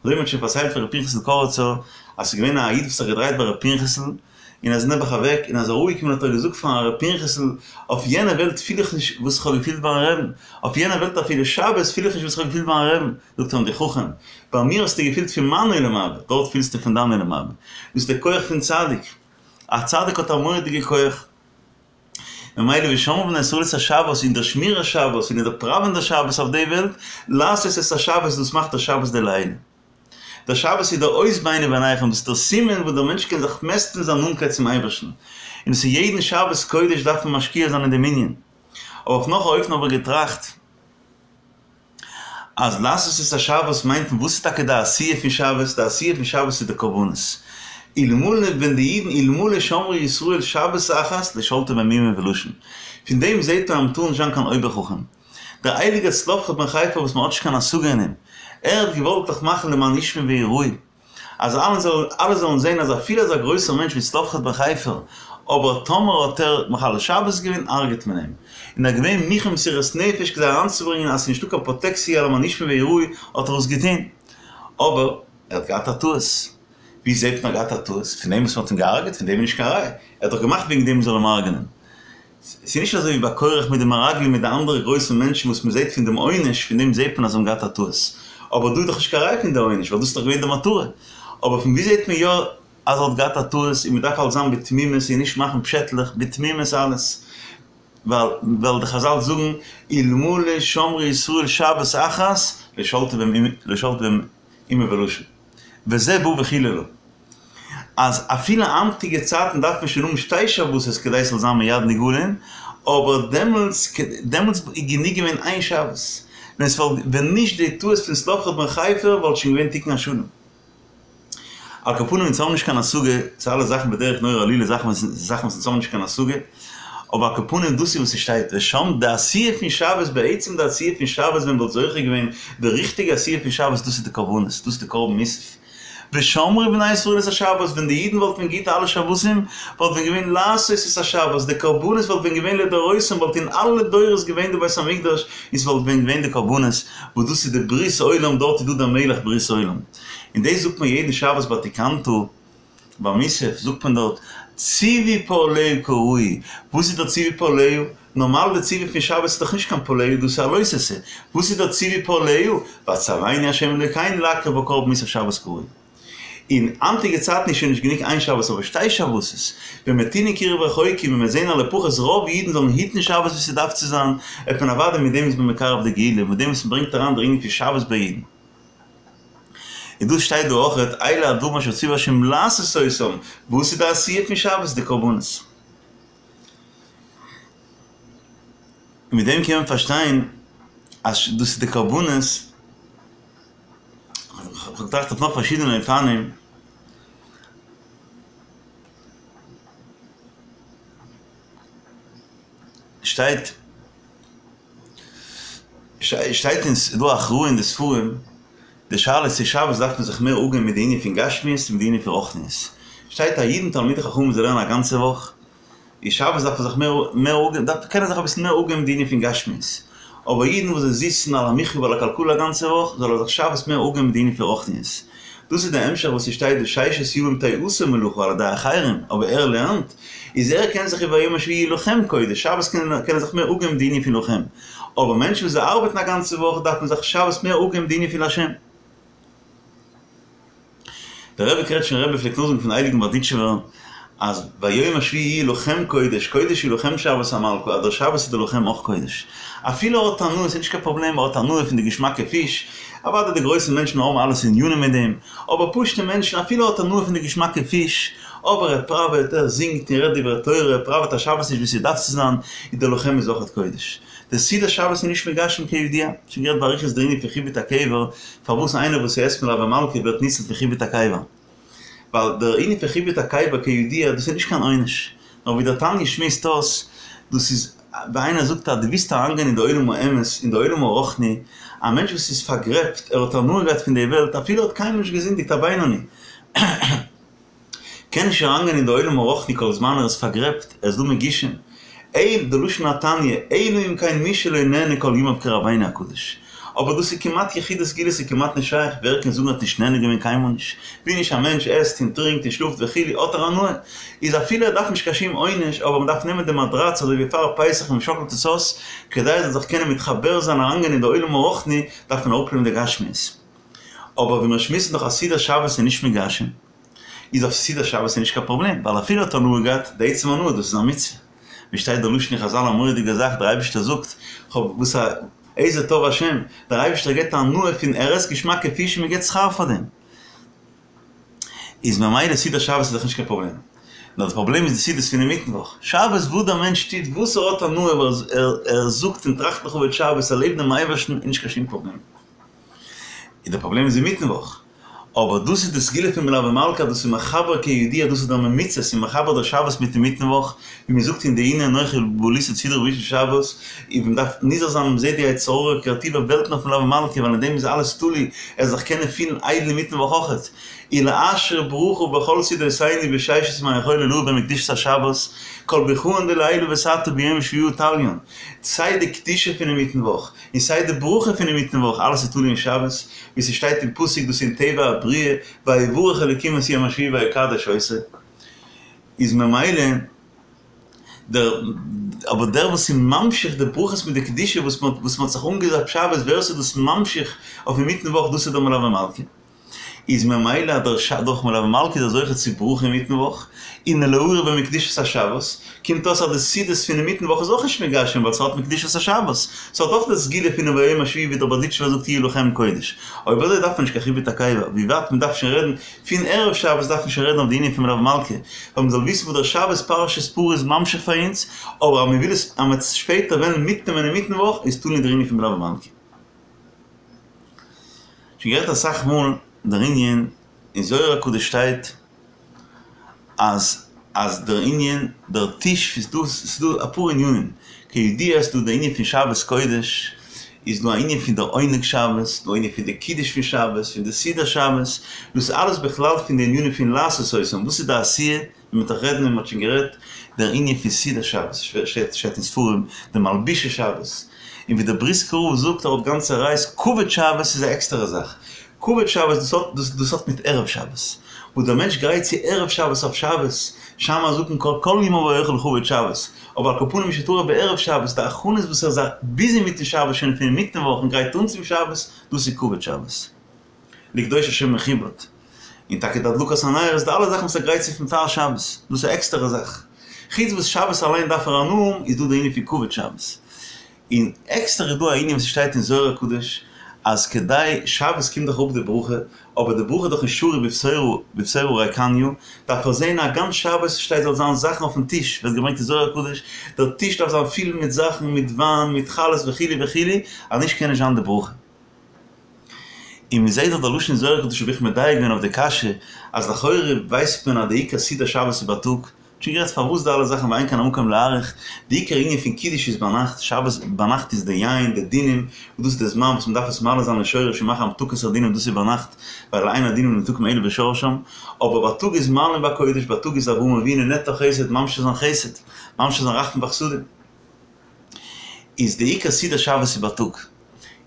אזוי ווי מען האט שוין פארציילט פון ר' פנחס'ל קאריצער אז ס'איז געווען א איד וואס האט זיך געדרייט ביי ר' פנחס'ל און ער איז נעבעך אוועק און אז ער איז אראפגעקומען האט ער געזאגט פארן ר' פנחס'ל אויף יענע וועלט פיל איך נישט וואס איך האב געפילט ביים רעבן, אויף יענע וועלט אפילו שבת פיל איך נישט וואס איך האב געפילט ביים רעבן, זאגט ער אים דו חכם, ביי מיר האסטו געפילט פון מיין עולם הבא, דארט פילסטו פון דיין עולם הבא. דאס איז דער כח פון צדיק. א צדיק האט א מורא'דיגע כח. ממילא ושמרו בני ישראל את השבת אין דער שמירת שבת און אין דער פראווען דער שבת אויף די וועלט, לעשות את השבת דאס מאכט דער שבת דלעילא. דער שבת איז דער אות ביני וביניכם, דאס איז דער סימן וואס דער מענטש קען זיך מעסטן זיין נאנטקייט צום אייבערשטן. און עס איז יעדן שבת קודש דארף מען משקיע זיין אין דעם ענין. אבער אויף נאך א אופן האב איך געטראכט. אז לעשות את השבת מיינט מען וואס איז טאקע די עשייה פון שבת, די עשייה פון שבת איז די קרבנות, אלמלא ווען די אידן אלמלא שמרו ישראל שבת אחת לא שלטו בהם אומה ולשון, פון דעם זעט מען אז מ'טאר נישט זיין קיין אויבער חכם, דער הייליגער צלפחד בן חפר וואס מ'האט נישט קיין השגה אין אים, ער האט געוואלט דאך מאכן למען ישמעו ויראו. אז אלע זאלן אלע זאלן זען אז אפילו אזא גרויסער מענטש ווי צלפחד בן חפר, אבער טאמער האט ער מחלל שבת געווען הרג'ט מען אים. און ער איז געווען מוכן מסירות נפש כדי אריינצוברענגען אז ס'איז נישטא קיין פראטעקציע למען ישמעו ויראו האט ער עס געטון. אבער ער האט געהאט א טעות. ווי זעט מען ער האט געהאט א טעות? פון דעם וואס מ'האט אים געהרג'עט? פון דעם איז נישט קיין ראיה. ער האט דאך געמאכט וועגן דעם מ'זאל אים הרג'נען. ס'איז נישט אזוי ווי ביי קורח מיט די מרגלים מיט די אנדערע גרויסע מענטשן וואס מ'זעט פון דעם עונש, פון דעם זעט מען אז זיי האבן געהאט א טעות. אבער דא איז דאך נישט קיין ראיה פון די עונש, ווייל דאס איז דאך געווען די מטרה. אבער פון וואו זעט מען יא אז ער האט געהאט א טעות און מ'דארף אלס זיין בתמימות און נישט מאכן פשעטלעך, בתמימות אלעס. ווייל ווייל די חזל זאגן אלמלא שמרו ישראל שבת אחת לא שלטו בהם לא שלטו בהם אומה ולשון. וזה בא וחיללה. אז אפילו היינטיגע צייטן דארף מען שוין האבן שתי שבתות כדי ס'זאל זיין מיד נגאלין, אבער דעמאלטס דעמאלטס איז גענוג געווען איין שבת, ווען ס'וואלט ווען נישט די טעות פון צלפחד בן חפר וואלט שוין געווען תיקון השלם. על כל פנים אונז האבן נישט קיין השגה צו אלע זאכן בדרך נורא עלילה זאכן וואס זאכן וואס אונז האבן נישט קיין השגה, אבער על כל פנים דאס איז וואס ס'שטייט ושם די עשייה פון שבת בעצם די עשייה פון שבת ווען מ'וואלט זוכה געווען די ריכטיגע עשייה פון שבת דאס איז די קרבנות דאס איז די קרבן מוסף. ושמרו בני ישראל את השבת, ווען די אידן וואלטן ווען געהיט אלע שבתים, וואלט ווען געווען לעשות את השבת, די קרבנות וואלט ווען געווען לדורותם, וואלט אין אלע דורות געווען די בית המקדש, און ס'וואלט ווען געווען די קרבנות, וואס דאס איז די ברית עולם, דארט איז דא דער מלך ברית עולם. און דאס זאגט מען יעדן שבת ביי תקנתא, ביי מוסף זאגט מען דארט, ציווי פעליה כראוי, וואס איז דער ציווי פעליה? נארמאל די ציווי פון שבת איז דאך נישט קיין פעליה, דאס איז א לא תעשה, וואס איז דער ציווי פעליה? ויצונו ה' אלוקינו להקריב בה קרבן מוסף שבת כראוי. אין היינטיגע צייטן איז שוין נישט גענוג איין שבת אבער שתי שבתות, במתינים קירוב רחוקים ווען מיר זעהן א לפחות רוב אידן זאלן היטן שבת ווי ס'דארף צו זיין, וועט מען אוודאי מיט דעם איז מען מקרב די גאולה, מיט דעם וואס מ'ברענגט אריין דער ענין פון שבת ביי אידן. און דאס שטייט דא אויכעט, אלה הדברים אשר ציווה השם לעשות אותם, וואס איז די עשייה פון שבת? די קרבנות. און מיט דעם קען מען פארשטיין אז דאס איז די קרבנות, כ'האב געטראכט אויף נאך פארשידענע אופנים, שטייט שטייט אין ס'דא א הכרעה אין די ספרים, די שאלה איז צו שבת דארף מען זיך מער אפגעבן מיט די ענין פון גשמיות צו מיט די ענין פון רוחניות. שטייט א אידן תלמידי חכמים זיי לערנען א גאנצע וואך, איז שבת דארף מען זיך מער מער אפגעבן, דארף קען ער זיך אביסל מער אפגעבן מיט די ענין פון גשמיות. אבער אידן וואס זיי זיצן על המחיה ועל הכלכלה א גאנצע וואך, זאל ער זיך שבת מער אפגעבן מיט די ענין פון רוחניות. דאס איז די המשך וואס ס'שטייט דא ששת ימים תעשה מלאכה על ידי אחרים, אבער ער לערנט, איז ער קען זיך וביום השביעי יהיה לכם קודש, שבת קען ער זיך מער אפגעבן מיט די ענין פון לכם, אבער מענטשן וואס זיי ארבעטן א גאנצע וואך דארף מען זיך שבת מער אפגעבן מיט די ענין פון להשם. דער רבי קרעטשניפער רבי פלעגט נאכזאגן פון הייליגן בארדיטשובער אז ביום השביעי יהיה לכם קודש, קודש יהיה לכם שבת המלכה, אז דער שבת איז דער לכם אויך קודש. אפילו ער האט הנאה, ס'איז נישט קיין פראבלעם, ער האט הנאה פון די געשמאקע פיש, אוודאי די גרויסע מענטשן האבן אלעס ענינים מיט דעם, אבער פשוטע מענטשן, אפילו ער האט הנאה פון די געשמאקע פיש, אבער ער פראוועט, ער זינגט און רעדט דברי תורה, ער פראוועט א שבת נישט ווי ס'דארף צו זיין, איז דער לכם איז אויכעט קודש. די סעודת שבת איז נישט מגשם כידוע, שוין גערעדט באריכות דער ענין פון חיבוט הקבר, פארוואס איינער וואס עסט מלוה מלכה ווערט ניצול פון חיבוט הקבר. ווייל דער ענין פון חיבוט הקבר כידוע דאס איז נישט קיין עונש, נאר ווי דער תניא שמועסט אויס, דאס איז ווי איינער זאגט אז דו ווילסט אריינגיין אין די עולם האמת, אין די עולם הרוחני, א מענטש וואס איז פארגרעבט, ער האט הנאה געהאט פון די וועלט, אפילו ער האט קיינמאל נישט געזינדיגט א בינוני, קען נישט אריינגיין אין די עולם הרוחני כל זמן ער איז פארגרעבט, ער איז דא מגושם, אלא די לשון התניא, אלא אם כן מי שלא נהנה כל ימיו כרבינו הקדוש. אבער דאס איז כמעט יחידי סגולה ס'איז כמעט נישט שייך, ווער קען זאגן ער האט נישט נהנה געווען קיינמאל נישט, ווי נישט א מענטש עסט און טרינקט און שלאפט וכו' האט ער הנאה, איז אפילו ער דארף נישט קיין שום עונש, אבער מ'דארף נעמען די מאדראץ אזוי ווי פאר פסח און מ'שאקלט עס אויס, כדי ער זאל זיך קענען מתחבר זיין אריינגיין אין די עולם הרוחני דארף מען אראפנעמען די גשמיות. אבער ווי מיר שמועסן דאך אז סעודת שבת איז נישט מגשם, איז אויף סעודת שבת איז נישט קיין פראבלעם, ווייל אפילו האט הנאה געהאט, די עצם הנאה דאס איז א מצוה. ווי שטייט דער לשון אין חזל א מורא'דיגע זאך, דער אייבערשטער זאגט, כ'האב וואס א איזה טוב השם, דער אייבערשטער געבט הנאה פון ער עסט געשמאקע פיש און מען געבט שכר פאר דעם. איז ממילא סעודת שבת איז דאך נישט קיין פראבלעם. נאר די פראבלעם איז די סעודות פון אינמיטן וואך. שבת וואס דער מענטש טוט וואס ער האט הנאה אבער ער זאגט און טראכט לכבוד שבת ער לעבט דעם אייבערשטן איז נישט קיין שום פראבלעם. און די פראבלעם איז אינמיטן וואך. אבער דאס איז די סגולה פון מלוה מלכה דאס איז מחבר כידוע דאס איז דער ממוצע ס'איז מחבר דער שבת מיט אינמיטן וואך ווי מען זאגט אין די הנה אנכי בליתי סדרה בראשית שבת און מען דארף נזהר זיין מען זעט די יצר הרע קערט איבער וועלטן אויף מלוה מלכה ווייל אין דעם איז אלעס תלוי ער זאל זיך קענען פילן איידל אינמיטן וואך אויכעט ולאשר ברכה בכל סעודותינו בששת ימי החול עילאה במקדושת השבת כל ברכאן דלעילא ותתא ביומא שביעאה תליין סיי די קדושה פון אינמיטן וואך און סיי די ברכה פון אינמיטן וואך, אלעס איז תלוי אין שבת, ווי ס'שטייט אין פסוק דאס אין טבע הבריאה, ויברך אלקים את יום השביעי ויקדש אותו, איז ממילא דער אבער דער וואס איז ממשיך די ברכות מיט די קדושה וואס מ'האט וואס מ'האט זיך אנגעזאפט שבת ווער ס'איז דאס ממשיך אויף אינמיטן וואך דאס איז דער מלוה מלכה. איז ממילא אז דער ש דורך מלוה מלכה איז ער זוכה צו ברכה אינמיטן וואך, און להאיר בהם מקדושת השבת, קומט אויס אז די סעודות פון אינמיטן וואך איז אויך נישט מגשם ווייל ס'האט מקדושת השבת, ס'האט אויך די סגולה פון וביום השביעי ווי דער בארדיטשובער זאגט יהיו לכם קודש. אויב אזוי דארף מען נישט קיין חיבוט הקבר, ווי ווייט מ'דארף שוין רעדן פון ערב שבת דארף מען שוין רעדן אויף די ענין פון מלוה מלכה, ווייל מ'זאל וויסן וואס דער שבת פרשת פרה איז ממשיך פאר אונז, אבער אז מ'וויל עס אז מ'וועט עס שפעטער וועלן מיטנעמען אינמיטן וואך איז תלוי דער ענין פון מלוה מלכה. שוין גערעדט אסאך מאל דער ענין, אין זוהר הקדוש שטייט אז אז דער ענין דער טיש איז דא ס'איז דא אפאר ענינים, כידוע איז דא די ענין פון שבת קודש, איז דא א ענין פון דער עונג שבת, דא ענין פון די קידוש פון שבת, פון די סעודת שבת, דאס איז אלעס בכלל פון די ענינים פון לעשות אותם, וואס איז די עשיה? ווי מ'וועט דאך רעדן און מ'האט שוין גערעדט דער ענין פון סעודת שבת, שטייט שטייט אין ספרים די מלבושי שבת, און ווי דער בריסקער רב זאגט ער האט גאנצע ראיות, כבוד שבת איז א עקסטערע זאך, כבוד שבת דאס האט דאס דאס האט מיט ערב שבת, וואס דער מענטש גרייט צו ערב שבת אויף שבת, שמע הזקן כל כל ימיו אוכל לכבוד שבת, אבער על כל פנים שטרח בערב שבת, די הכנות וואס ער איז ביזי מיטן שבת שוין פון אינמיטן וואך און גרייט אן צום שבת, דאס איז כבוד שבת. לקדוש השם מכובד, און טאקע די הדלקת הנרות, די אלע זאכן וואס ער גרייט צו פון פאר שבת, דאס איז א עקסטערע זאך. חוץ וואס שבת אליין דארף ער הנאה האבן, איז דא די ענין פון כבוד שבת. און עקסטער איז דא א ענין וואס שטייט אין זוהר הקדוש, אז כדי, שבת קומט דאך אראפ די ברכה, אבער די ברכה איז דאך נישט שריר בבשורה בבשורה ריקניא, דארף ער זען א גאנץ שבת שטייט זאל זיין זאכן אויפן טיש, ווערט געברענגט אין זוהר הקדוש, דער טיש דארף זיין פיל מיט זאכן, מיט וויין, מיט חלות וכו' וכו', אז נישט קען נישט זיין די ברכה. און מען זעט דאך די לשון אין זוהר הקדוש האב איך מדייק געווען אויף די קשיא אז לכאורה ווייסט מען אז די עיקר סעודת שבת איז בייטאג, שוין גערעדט פארוואס די אלע זאכן ואין כאן המקום להאריך, די עיקר ענין פון קידוש איז ביינאכט, שבת ביינאכט איז די יין, די דינים, וואס דאס איז די זמן וואס מען דארף עס מעלה זיין לשורש און מאכן המתקת הדינים דאס איז ביינאכט, ווייל אין הדינים נמתקים אלא בשורשם, אבער בייטאג איז מעלין בקודש, בייטאג איז אברהם אבינו נעתר חסד, ממשיך זיין חסד, ממשיך זיין רחמים וחסדים. איז די עיקר סעודת שבת איז בייטאג.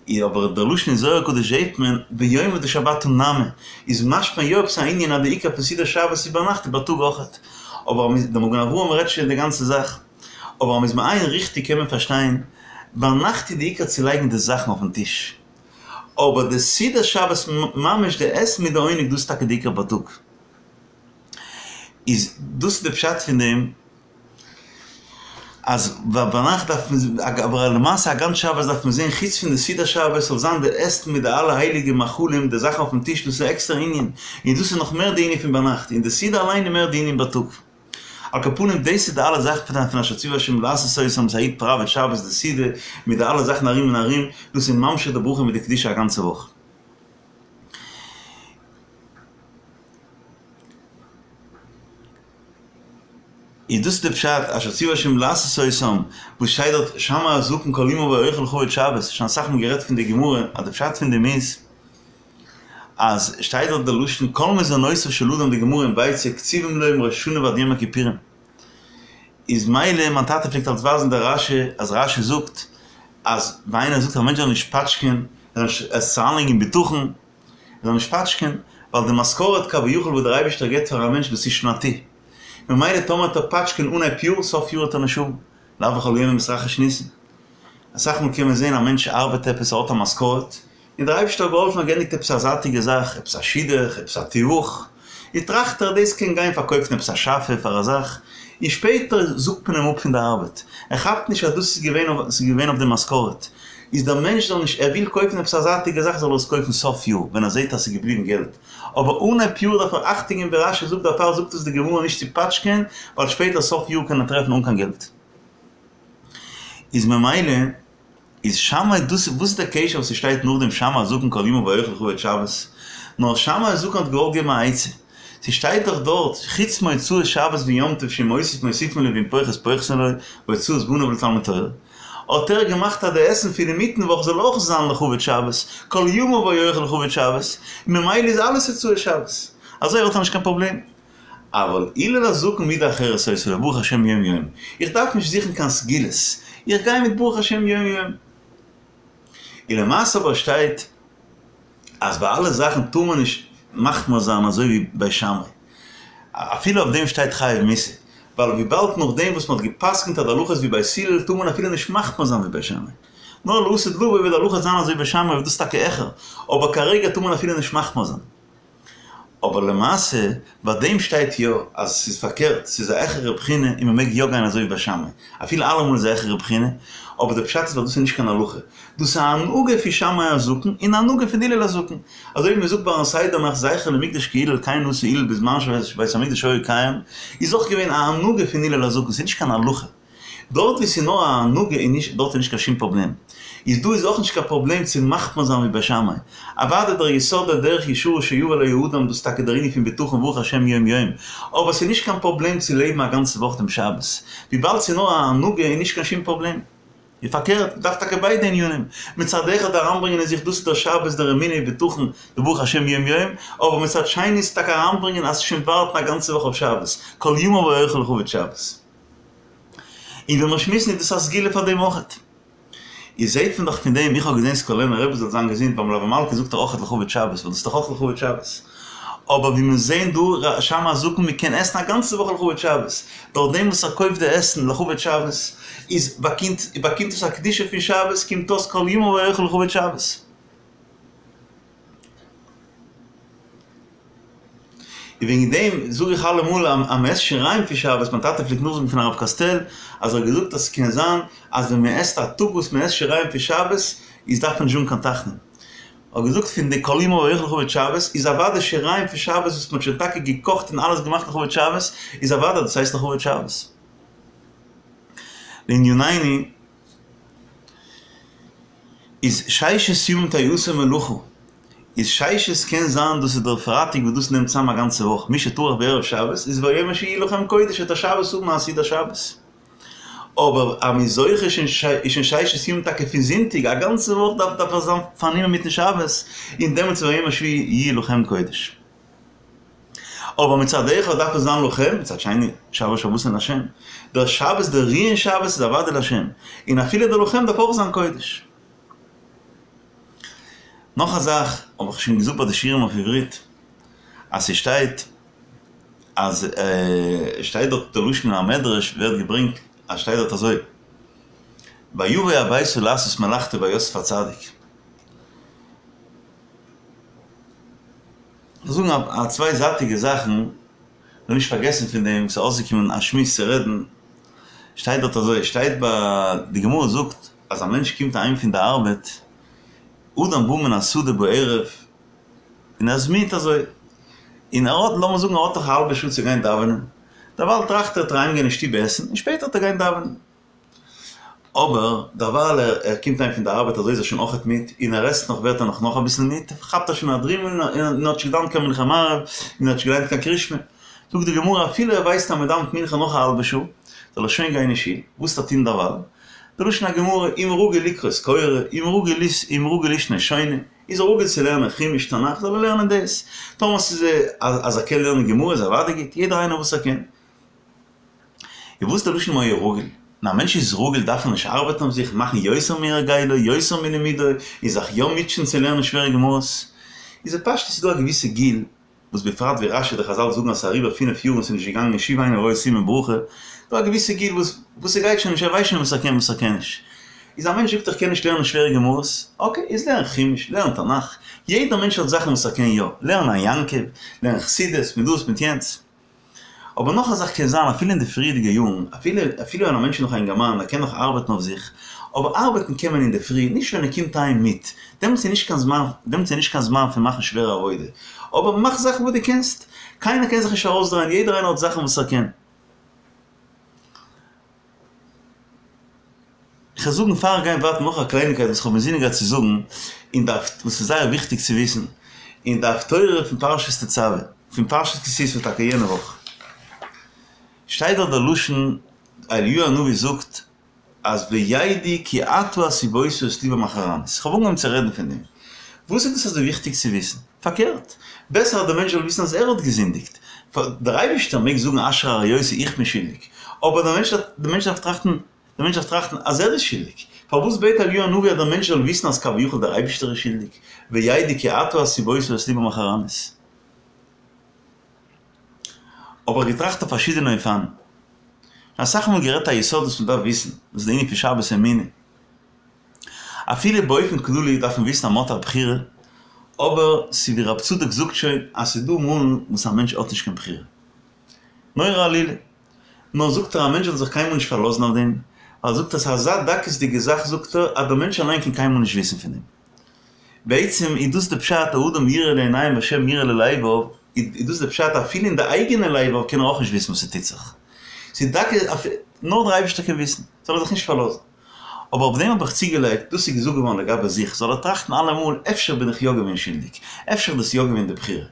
איז אבער דער לשון אין זוהר הקדוש זעהט מען ביומא דשבתא נמי, איז משמע יא עפעס א ענין אז די עיקר פון סעודת שבת איז ביינאכט איז בייטאג אויכעט. אבער אז מ'איז, דער מגן אברהם רעדט שוין די גאנצע זאך. אבער אז מ'איז מעיין ריכטיג קען מען פארשטיין, ביינאכט איז די עיקר צו לייגן די זאכן אויפן טיש. אבער די סעודת שבת ממש די עסן מיט די עונג דאס איז טאקע די עיקר בייטאג. איז דאס איז די פשט פון דעם. אז ביינאכט דארף מען, אבער למעשה א גאנץ שבת דארף מען זען חוץ פון די סעודת שבת זאל זיין די עסן מיט די אלע הייליגע מאכלים די זאכן אויפן טיש דאס איז א עקסטערע ענין, און דאס איז נאך מער די ענין פון ביינאכט, און די סעודה אליין איז מער די ענין בייטאג. על כל פנים דאס איז די אלע זאכן פון אשר ציוה השם לעשות אותם אז א איד פראוועט שבת די סעודה מיט די אלע זאכן ארום און ארום, דאס איז ממשיך די ברכה מיט די קדושה א גאנצע וואך. איז דאס די פשט אשר ציוה השם לעשות אותם, וואס שטייט דארט שמע הזקן כל ימיו אוכל לכבוד שבת, שוין אסאך מאל גערעדט פון די גמרא אז די פשט פון דעם איז אז שטייט דארט די לשון כל מזונותיו של אדם די גמרא אין ביצה קצובים לו מראש השנה ועד יום הכיפורים איז מילא מיין טאטע פלעגט אלץ ווייזן די רשי אז רשי זאגט אז ווען איינער זאגט א מענטש זאל נישט פאטשקען ער זאל נישט עס אריינלייגן אין בטחון ער זאל נישט פאטשקען, ווייל די משכורת כביכול וואס דער אייבערשטער געבט פאר א מענטש דאס איז שנתי, ממילא טאמער וועט ער פאטשקען אנהייב יאר, סוף יאר וועט ער נישט האבן, לאו בכל יומא מתרחיש ניסא. אסאך מאל קען מען זען א מענטש ארבעט עפעס ער האט א משכורת, און דער אייבערשטער האט געהאלפן ער האט געענדיגט עפעס א זייטיגע זאך, עפעס א שידוך, עפעס א תיווך, איז טראכט ער דאס קען גיין פארקויפן עפעס א שאפע פאר א זאך, און שפעטער זאגט מען אים אפ פון די ארבעט, ער כאפט נישט אז דאס איז געווען אויף ס'איז געווען אויף די משכורת, איז דער מענטש זאל נישט ער וויל קויפן עפעס א זייטיגע זאך זאל ער עס קויפן סוף יאר ווען ער זעט אז ס'איז געבליבן געלט, אבער אנהייב יאר דארף ער אכטונג געבן ווי רש"י זאגט דערפאר זאגט עס די גמרא נישט צו פאטשקען ווייל שפעטער סוף יאר קען ער טרעפן אן קיין געלט איז ממילא איז שמאי דאס וואס איז דער קשר וואס ס'שטייט נאכדעם שמאי הזקן כל ימיו אוכל לכבוד שבת? נאר שמאי הזקן האט געוואלט געבן א עצה, ס'שטייט דאך דארט חוץ מהוצאות שבת ויום טוב שאם מוסיף מוסיפין לו ואם פוחת פוחתין לו והוצאת בניו לתלמוד תורה, האט ער געמאכט אז די עסן פון אינמיטן וואך זאל אויך זיין לכבוד שבת, כל ימיו היה אוכל לכבוד שבת, און ממילא איז אלעס הוצאות שבת, אזוי האט ער נישט קיין פראבלעם. אבל הלל הזקן מידה אחרת היתה לו, ברוך השם יום יום. איך דארף נישט זוכן קיין סגולות, איך גיי מיט ברוך השם יום יום. און למעשה אבער שטייט אז ביי אלע זאכן טאר מען נישט מחמיר זיין אזוי ווי בית שמאי. אפילו אויף דעם שטייט חייב מיתה, ווייל וויבאלד נאכדעם וואס מען האט גע'פסק'נט אז די הלכה איז ווי בית הלל טאר מען אפילו נישט מחמיר זיין ווי בית שמאי. נאר לעתיד לבוא וועט די הלכה זיין אזוי ווי בית שמאי וועט דאס טאקע העכער, אבער כרגע טאר מען אפילו נישט מחמיר זיין. אבער למעשה ביי דעם שטייט יא אז ס'איז פארקערט, ס'איז א העכערע בחינה און מ'מעג יא גיין אזוי ווי בית שמאי, אפילו אלעמאל איז א העכערע בחינה, אבער די פשט איז ווייל דאס איז נישט קיין הלכה, דאס איז א הנהגה פון שמאי הזקן און א הנהגה פון הלל הזקן, אזוי ווי מ'זאגט ביים סדר נאכט זכר למקדש כהלל כן עשה הלל בזמן שבית המקדש היה קיים, איז אויך געווען א הנהגה פון הלל הזקן, ס'איז נישט קיין הלכה. דארט ווי ס'איז נאר א הנהגה איז נישט דארט איז נישט קיין שום פראבלעם. איז דא איז אויך נישט קיין פראבלעם צו מחמיר זיין ווי בית שמאי. אוודאי דער יסוד דער דרך ישרה שיבא עליה האדם דאס איז טאקע דער ענין פון בטחון ברוך השם יום יום. אבער ס'איז נישט קיין פראבלעם צו לעבן א גאנצע וואך דעם שבת. וויבאלד ס'איז נאר א הנהגה איז נישט קיין שום פראבלעם. און פארקערט, מ'דארף טאקע ביידע ענינים. מצד אחד אריינברענגען אין זיך דאס איז דער שבת דער אמונה ובטחון די ברוך השם יום יום, אבער מצד שני איז טאקע אריינברענגען אז שוין ווארטן א גאנצע וואך אויף שבת, כל ימיו היה אוכל לכבוד שבת. און ווען מיר שמועסן איז דאס א סגולה פאר דעם אויכעט. איז זעהט מען דאך פון דעם, איך האב געזעהן סקולענער רבי זאל זיין געזונט ביים מלוה מלכה זאגט ער אויכעט לכבוד שבת, ווייל דאס איז דאך אויך לכבוד שבת. אבער ווי מיר זעהן דא שמאי הזקן מען קען עסן א גאנצע וואך לכבוד שבת, דורך דעם וואס ער קויפט די עסן לכבוד שבת, איז באקומט באקומט עס א קדושה פון שבת, קומט אויס כל ימיו היה אוכל לכבוד שבת. און וועגן דעם זאג איך אלעמאל אז מען עסט שיריים פון שבת, מיין טאטע פלעגט נאכזאגן פון הרב קאסטעל אז ער האט געזאגט אז ס'קען זיין אז ווען מען עסט א טאג וואס מען עסט שיריים פון שבת איז דארף מען נישט זאגן קיין תחנון. האט געזאגט פון די כל ימיו היה אוכל לכבוד שבת איז אוודאי שיריים פון שבת וואס מען האט שוין טאקע געקאכט און אלעס געמאכט לכבוד שבת איז אוודאי דאס הייסט לכבוד שבת. לענינינו. איז ששת ימים תעשה מלאכה, איז ששת קען זיין דאס איז דער פרייטאג וואס דאס נעמט צאם א גאנצע וואך, מי שטרח בערב שבת איז והיום השביעי לכם קודש וועט ער שבת האבן א סעודת שבת. אבער אז מ'איז זוכה איז שוין ששת ימים טאקע פון זונטאג, א גאנצע וואך דארף דארף ער זיין פארנומען מיטן שבת, און דעמאלטס והיום השביעי יהיה לכם קודש. אבער מצד אחד דארף עס זיין לכם, מצד שני שבת שבתון להשם. דער שבת דער רו אין שבת איז אוודאי להשם, און אפילו דער לכם דארף אויך זיין קודש. נאך א זאך האב איך שוין געזאגט ביי די שיעורים אויף עברית, אז ס'שטייט אז שטייט דארט די לשון המדרש ווערט געברענגט אז שטייט דארט אזוי ויבא הביתה לעשות מלאכתו ביי יוסף הצדיק. כ'וועל זאגן א צוויי זייטיגע זאכן, כ'וועל נישט פארגעסן פון דעם, ס'איז אויסגעקומען א שמועס צו רעדן, שטייט דארט אזוי, שטייט ביי, די גמרא זאגט אז א מענטש קומט אהיים פון די ארבעט, אדם בא מן השדה בערב, און ער איז מיד אזוי, און ער האט, לאמיר זאגן ער האט נאך א האלבע שעה צו גיין דאווענען, דערווייל טראכט ער, וועט ער אהיימגיין אין שטוב עסן, און שפעטער וועט ער גיין דאווענען. אבער דערווייל ער קומט אהיים פון די ארבעט אזוי איז ער שוין אויכעט מיד, און ער עסט נאך ווערט ער נאך נאך אביסל מיד, כאפט ער שוין א דרימל און האט נישט געדאווענט קיין מנחה מעריב, און האט נישט געליינט קיין קרישמע. זאגט די גמרא אפילו ער ווייסט אז מען דאווענט מנחה נאך א האלבע שעה, זאל ער שוין גיין אין שול, וואס וועט ער טון דערווייל? די לשון הגמרא, אם רגיל לקרות קורא, אם רגיל אם רגיל לישנה שונה, איז ער רגיל צו לערנען חומש תנך זאל ער לערנען דאס, טאמער ס'איז אז ער קען לערנען גמרא איז אוודאי גוט, יעדער איינער וואס ער קען. און וואס איז די לשון היה רגיל? ווען א מענטש איז רגיל דארף ער נישט ארבעטן אויף זיך, מאכן יותר מהרגילו, יותר מלימודו, און זיך יא מוטשען צו לערנען שווערע גמרות. איז בפשטות איז דא א געוויסע גיל, וואס בפרט ווי רש"י די חז"ל זאגן אז ס'איז אריבער פינף יאר און ס'איז נישט געגאנגען שוב אינו רואה סימן ברכה, דא א געוויסע גיל וואס וואס ס'גייט שוין נישט, ער ווייסט שוין וואס ער קען וואס ער קען נישט. איז א מענטש זאגט איך קען נישט לערנען שווערע גמרות, אקעי, איז לערן חומש, לערן תנך, יעדער מענטש האט זאכן וואס ער קען יא, לערן עין יעקב, לערן חסידות, מיט דאס מיט יענץ. אבער נאך א זאך קען זיין אפילו אין די פריערדיגע יארן, אפילו אפילו ווען א מענטש איז נאך א אינגערמאן, ער קען נאך ארבעטן אויף זיך, אבער ארבעטן קען מען אינדערפרי, נישט ווען ער קומט אהיים מיד, דעמאלטס איז נישט קיין זמן, דעמאלטס איז נישט קיין זמן פון מאכן שווערע עבודה. אבער מאך זאכן וואס דו קענסט. קיינער קען זיך נישט ארויסדרייען, יעדער איינער האט זאכן וואס ער קען. כ'וועל זאגן פאר איך גיי ווייטער נאך א קלייניגקייט וואס כ'האב אינזינען געהאט צו זאגן, און די וואס איז זייער וויכטיג צו וויסן, אין די הפטורה פון פרשת תצוה, פון פרשת כי תשא טאקע יענע וואך, שטייט דארט דער לשון, אליהו הנביא זאגט אז וידעו כי אתה הסבות את לבם אחרנית. כ'האב אנגעהויבן צו רעדן פון דעם. וואס איז דאס אזוי וויכטיג צו וויסן? פארקערט, בעסער אז דער מענטש זאל וויסן אז ער האט געזינדיגט. דער אייבערשטער מעג זאגן אשר הרעותי איך בין שולדיג. אבער דער מענטש דער מענטש דארף טראכטן, דער מענטש דארף טראכטן אז ער איז שולדיג. פארוואס בעט אליהו הנביא אז דער מענטש זאל וויסן אז כביכול דער אייבערשטער איז שולדיג? וידעו כי אתה הסבות את לבם אחרנית. האב איך געטראכט אויף פארשידענע אופנים. אסאך מאל גערעדט א יסוד וואס מ'דארף וויסן, דאס איז די ענין פון שבת אמונה. אפילו באופן כללי דארף מען וויסן אז מ'האט א בחירה, אבער ס'איז ווי רב צדוק זאגט שוין אז ס'איז דא מאלן וואס א מענטש האט נישט קיין בחירה. נורא עלילה. נאר זאגט ער א מענטש זאל זיך קיינמאל נישט פארלאזן אויף דעם, ווייל זאגט ער ס'איז אזא דקות'דיגע זאך זאגט ער אז דער מענטש אליין קען קיינמאל נישט וויסן פון דעם. בעצם איז דאס די פשט האדם יראה לעיניים והשם יראה ללבב, איז דאס די פשט אפילו אין די אייגענע לבב קען ער אויך נישט וויסן וואס ס'טוט זיך, ס'איז דקות נאר דער אייבערשטער קען וויסן, זאל ער זיך נישט פארלאזן. אבער אויף דעם האב איך צוגעלייגט, דאס איז געזאגט געווארן לגבי זיך, זאל ער טראכטן אלעמאל אפשר בין איך יא געווען שולדיג, אפשר איז דאס יא געווען די בחירה.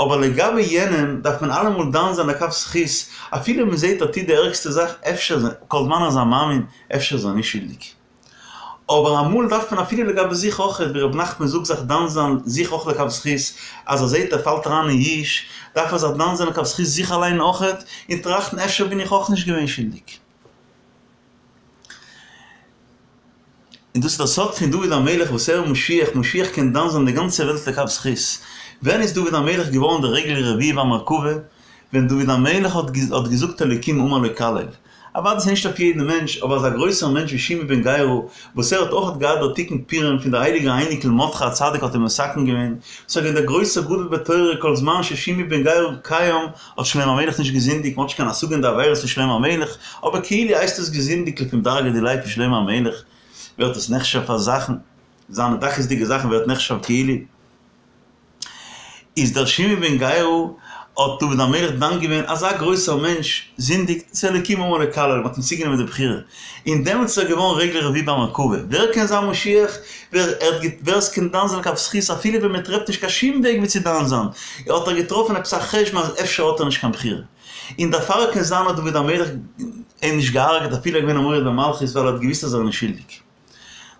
אבער לגבי יענעם דארף מען אלעמאל דן זיין לכף זכות, אפילו מען זעט ער טוט די ערגסטע זאך, אפשר, כל זמן ער איז א מאמין, אפשר איז ער נישט שולדיג. אבער אמאל דארף מען אפילו לגבי זיך אויך, ווי ר' נחמן זאגט זיך דן זיין זיך אויך לכף זכות, אז ער זעט ער פאלט אריין אין יאוש, דארף ער זיך דן זיין לכף זכות זיך אליין אויך, און טראכטן אפשר בין איך אויך נישט געווען שולדיג. און דאס איז דער סוד פון דוד המלך וואס ער איז משיח, משיח קען דן זיין די גאנצע וועלט לכף זכות. ווען איז דוד המלך געווארן דער רגל רביעי במרכבה? ווען דוד המלך האט געזאגט אלוקים אמר לו קלל. אוודאי ס'איז נישט אויף יעדן מענטש, אבער אזא גרויסער מענטש ווי שמעי בן גרא, וואס ער האט אויך געהאט דער תיקון פורים פון דער הייליגער אייניקל מרדכי הצדיק האט אים מתקן געווען, ס'איז געווען דער גרויסער גדול בתורה כל זמן ששמעי בן גרא קיים האט שלמה המלך נישט געזינדיגט, מ'האט נישט קיין השגה אין די עבירות פון שלמה המלך, אבער כאילו הייסט עס געזינדיגט לפום דרגא דיליה פון שלמה המלך ווערט עס נחשב פאר זאכן, זיינע דקות'דיגע זאכן ווערט נחשב כאילו. איז דער שמעי בן גרא האט דוד המלך דן געווען אזא גרויסער מענטש זינדיגט ס'איז אלוקים אמר לו קלל מ'האט אים צוגענומען די בחירה און דעמאלטס איז ער געווארן רגל רביעי במרכבה ווער קען זיין משיח ווער ער האט ווער עס קען דן זיין לכף זכות אפילו ווען מען טרעפט נישט קיין שום וועג ווי צו דן זיין האט ער געטראפן עפעס א חשבון אז אפשר האט ער נישט קיין בחירה און דערפאר קען זיין האט דוד המלך אים נישט געהארגעט אפילו ער איז געווען א מורד במלכות ווייל ער האט געוויסט אז ער איז נישט שולדיג.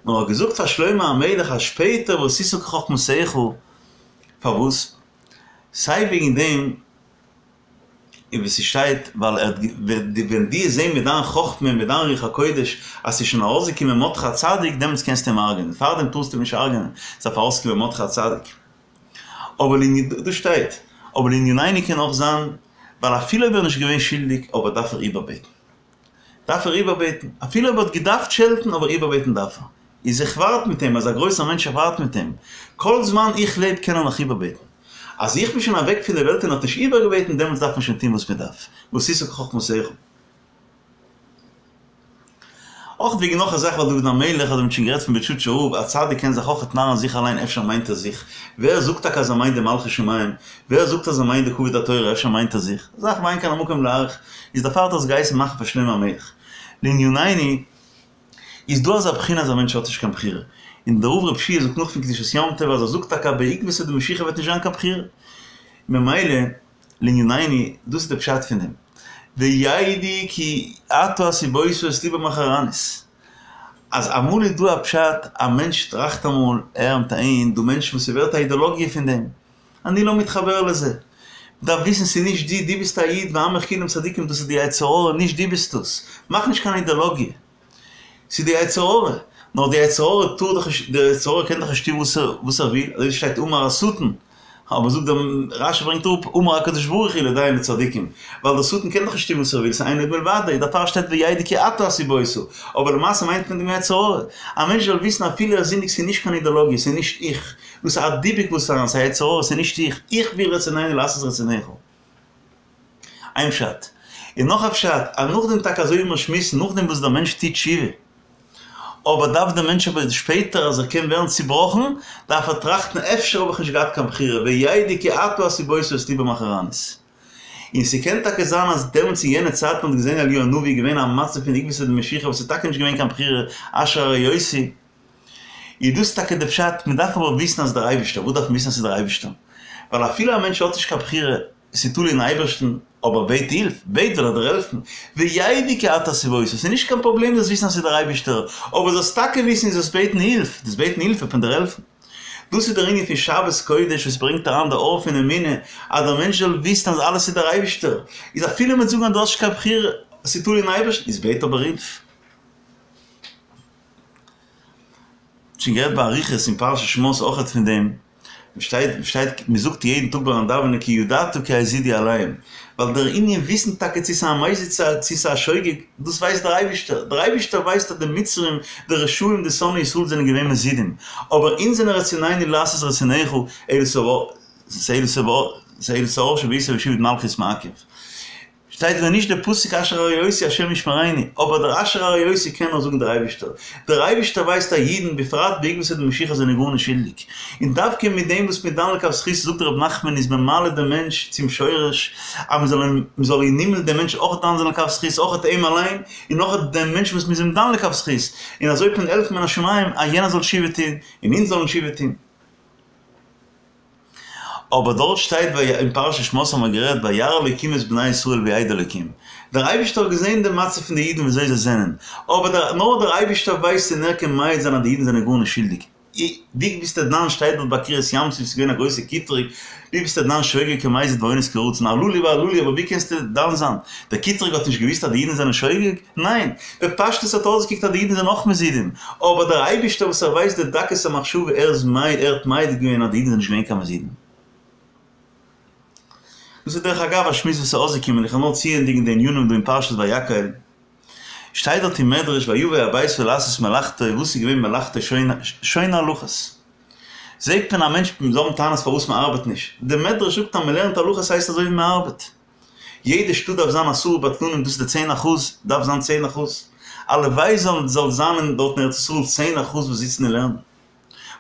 נאר האט געזאגט פאר שלמה המלך אז שפעטער ועשית כחכמתך, פארוואס? סיי וועגן דעם און ווי ס'שטייט ווייל ער האט ווען דו וועסט זען מיט דיין חכמה און מיט דיין רוח הקודש אז ס'איז שוין ארויסגעקומען מרדכי הצדיק דעמאלטס קענסטו אים הרג'ענען, פארדעם טארסטו אים נישט הרג'ענען, ס'דארף ארויסקומען מרדכי הצדיק. אבער לענ דאס שטייט, אבער לענינינו קען אויך זיין ווייל אפילו אויב ער איז נישט געווען שולדיג אבער דארף ער איבערבעטן. דארף ער איבערבעטן, אפילו אויב ער האט געדארפט שעלטן, אבער איבערבעטן דארף ער. איז איך ווארט מיט אים, אזא גרויסער מענטש איך ווארט מיט אים, כל זמן איך לעב קען ער נאך איבערבעטן. אז איך בין שוין אוועק פון די וועלט און ער האט נישט איבערגעבעטן, דעמאלטס דארף מען שוין טון וואס מען דארף, ועשית כחכמתך. אויך וועגן נאך א זאך ווייל דוד המלך, אזוי מ'האט שוין גערעדט פון בוטשאטשער רב, א צדיק קען זיך אויך נארן זיך אליין אפשר מיינט ער זיך, ווער זאגט טאקע אז ער מיינט די מלכות שמים, ווער זאגט אז ער מיינט די כבוד התורה אפשר מיינט ער זיך, זאך ואין כאן המקום להאריך, איז דערפאר האט ער עס געהייסן מאכן פאר שלמה המלך. לענינינו, איז דא אזא בחינה אז א מענטש האט נישט קיין בחירה, און דער רב רב שיע זאגט נאך פון קדושת יום טוב אז ער זאגט טאקע אז בעקבתא דמשיחא וועט נישט זיין קיין בחירה, ממילא לענינינו, דאס איז די פשט פון דעם, וידעו כי אתה הסבות את לבם אחרנית, אז אמאל איז דא א פשט, א מענטש טראכט אמאל, ער מיט אהין, דא מענטשן וואס ס'ווערט א אידעלאגיע פון דעם, אני לא מתחבר לזה. מ'דארף וויסן ס'איז נישט דו, דו ביסט א איד ועמך כולם צדיקים, דאס איז די יצר הרע, נישט דו ביסט עס. מאך נישט קיין אידעלאגיע. ס'איז די יצר הרע. נאר די יצר הרע טאר דאך נישט, די יצר הרע קען דאך נישט טון וואס ער וואס ער וויל, אזוי שטייט אמר השטן, אבער זאגט דער רשי ברענגט אראפ אמר הקדוש ברוך הוא לדיין לצדיקים, ווייל דער שטן קען דאך נישט טון וואס ער וויל, ס'איז אין עוד מלבדו, דערפאר שטייט וידעו כי אתה הסבות, אבער למעשה מיינט מען דעם יצר הרע. א מענטש זאל וויסן אפילו ער זינדיגט ס'איז נישט קיין אידעלאגיע, ס'איז נישט איך, דאס איז א דיבוק וואס איז אריין, ס'איז א יצר הרע, ס'איז נישט איך, איך וויל רצוננו לעשות רצונך. איין פשט. און נאך א פשט, אז נאכדעם טאקע אזוי ווי מיר שמועסן, נאכדעם וואס דער מענטש טוט תשובה, אבער דארף דער מענטש אבער שפעטער אז ער קען ווערן צובראכן, דארף ער טראכטן אפשר האב איך נישט געהאט קיין בחירה, וידעו כי אתה הסיבות את לבם אחורנית. און ס'קען טאקע זיין אז דעמאלטס אין יענע צייטן האט געזען אליהו הנביא געווען א מצב פון עקבתא דמשיחא וואס איז טאקע נישט געווען קיין בחירה אשר הרעותי, איז דאס טאקע די פשט, מען דארף אבער וויסן אז דער אייבישטער, וואס דארף מען וויסן אז ס'איז דער אייבישטער? ווייל אפילו א מענטש האט נישט קיין בחירה, ס'איז תלוי אין אייבערשטן, אבער בעט הילף, בעט וועט ער דיר העלפן, וידעו כי אתה הסיבות, עס איז נישט קיין פראבלעם זאלסט וויסן אז ס'איז דער אייבישטער, אבער זאלסט טאקע וויסן און זאלסט בעטן הילף, דאס בעטן הילף וועט מען דיר העלפן. דאס איז דער ענין פון שבת קודש וואס ברענגט אריין די אור פון אמונה, אז דער מענטש זאל וויסן אז אלעס איז דער אייבישטער, איז אפילו מ'וועט זאגן אז דו האסט נישט קיין בחירה, עס איז תלוי אין אייבערשטן, איז בעט אבער הילף. שוין גערעדט באריכות אין פרשת שמות אויכעט פון דעם, שטייט שטייט מ'זאגט יעדן טאג ביים דאווענען כי ידעת כי הזידו עליהם, ווייל דער ענין וויסן טאקע צו ס'איז א מזיד צו ס'איז א שוגג, דאס ווייסט דער אייבישטער, דער אייבישטער ווייסט אז די מצרים, די רשעים, די שונאי ישראל זענען געווען מזידים, אבער אונז זענען רצוננו לעשות רצונך, אלא שאור שבעיסה ושעבוד מלכיות מעכב. שטייט ווען נישט דער פסוק אשר הרעותי השם ישמרינו, אבער דער אשר הרעותי קען נאר זאגן דער אייבישטער, דער אייבישטער ווייסט אז אידן בפרט בעקבתא דמשיחא זענען גארנישט שולדיג, און דווקא מיט דעם וואס מ'איז דן לכף זכות זאגט ר' נחמן איז מען מעלה דעם מענטש צום שורש אז מען זאל אים מען זאל אין הימל דעם מענטש אויך דן זיין לכף זכות אויך אים אליין און אויך דעם מענטש וואס מ'איז אים דן לכף זכות, און אזוי וועט מען העלפן מן השמים אז יענער זאל תשובה טון און אונז זאלן תשובה טון. אבער דארט שטייט אין פרשת שמות האבן מיר גערעדט וירא אלוקים את בני ישראל וידע אלוקים, דער אייבישטער האט געזען די מצב פון די אידן וויאזוי זיי זענען, אבער דער נאר דער אייבישטער ווייסט און ער קען מעיד זיין אז די אידן זענען גארנישט שולדיג, ווי ביסטו דן שטייט דארט ביי קריעת ים סוף ס'איז געווען א גרויסע קיטרוג, ווי ביסטו דן שוגג כמזיד ואונס כרצון הללו והללו אבער ווי קענסטו דן זיין? דער קיטרוג האט נישט געוויסט אז די אידן זענען שוגג? ניין, בפשטות האט אויסגעקוקט אז די אידן זענען אויך מזידים, אבער דער אייבישטער וואס ער ווייסט די דקות המחשבה ער איז מעיד ער האט מעיד געווען אז די אידן זענען נישט געווען קיין מזידים. דאס איז דרך אגב א שמועס וואס איז אויסגעקומען, איך וועל נאר צוענדיגן די ענינים דא אין פרשת ויקהל, שטייט דארט אין מדרש ויבא הביתה לעשות מלאכתו, וואס איז געווען מלאכתו שונה הלכות? זעט מען א מענטש זאל האבן טענות פארוואס מען ארבעט נישט, די מדרש זאגט אז מען לערנט הלכות הייסט אזוי ווי מען ארבעט. יעדע שטאט דארף זיין עשרה בטלנים דאס איז די 10% דארף זיין 10% הלוואי זאל זאל זיין אין דארט אין ארץ ישראל 10% וואס זיצן און לערנען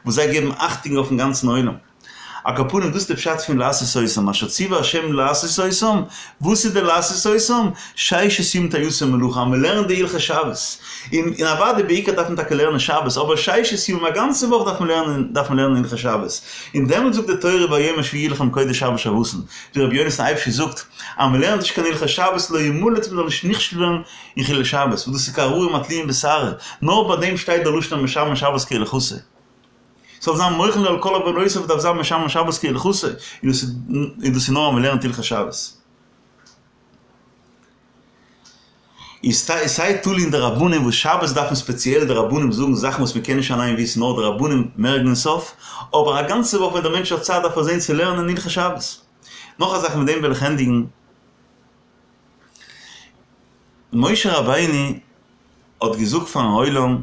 וואס זיי געבן אכטונג אויפן גאנצן עולם על כל פנים דאס איז די פשט פון לעשות אותם אשר ציווה השם לעשות אותם וואס איז די לעשות אותם? ששת ימים תעשה מלאכה אז מען לערנט די הלכות שבת און און אוודאי בעיקר דארף מען טאקע לערנען שבת אבער ששת ימים א גאנצע וואך דארף מען לערנען דארף מען לערנען הלכות שבת און דעמאלטס זאגט די תורה והיום השביעי לכם קודש שבת שבתון ווי רבי יונתן אייבשיץ זאגט אז מען לערנט נישט קיין הלכות שבת לא ימלט מען זאל נישט נכשל ווערן אין חילול שבת וואס דאס איז כהררים התלויים בשערה נאר ביי דעם שטייט דער לשון המשמר שבת כהלכתה ס'זאל זיין מוחל לו על כל עוונותיו דארף זיין משמר שבת כהלכתה און דאס איז נאר אז מען לערנט הלכות שבת. איז סיי תלוי אין די רבנים וואס שבת דארפן ספעציעל די רבנים זאגן זאכן וואס מען קען נישט אליין וויסן נאר די רבנים מערקן עס אויף, אבער א גאנצע וואך ווען דער מענטש האט צייט דארף ער זען צו לערנען הלכות שבת. נאך א זאך מיט דעם וועל איך ענדיגן. משה רבינו האט געזאגט פארן עולם,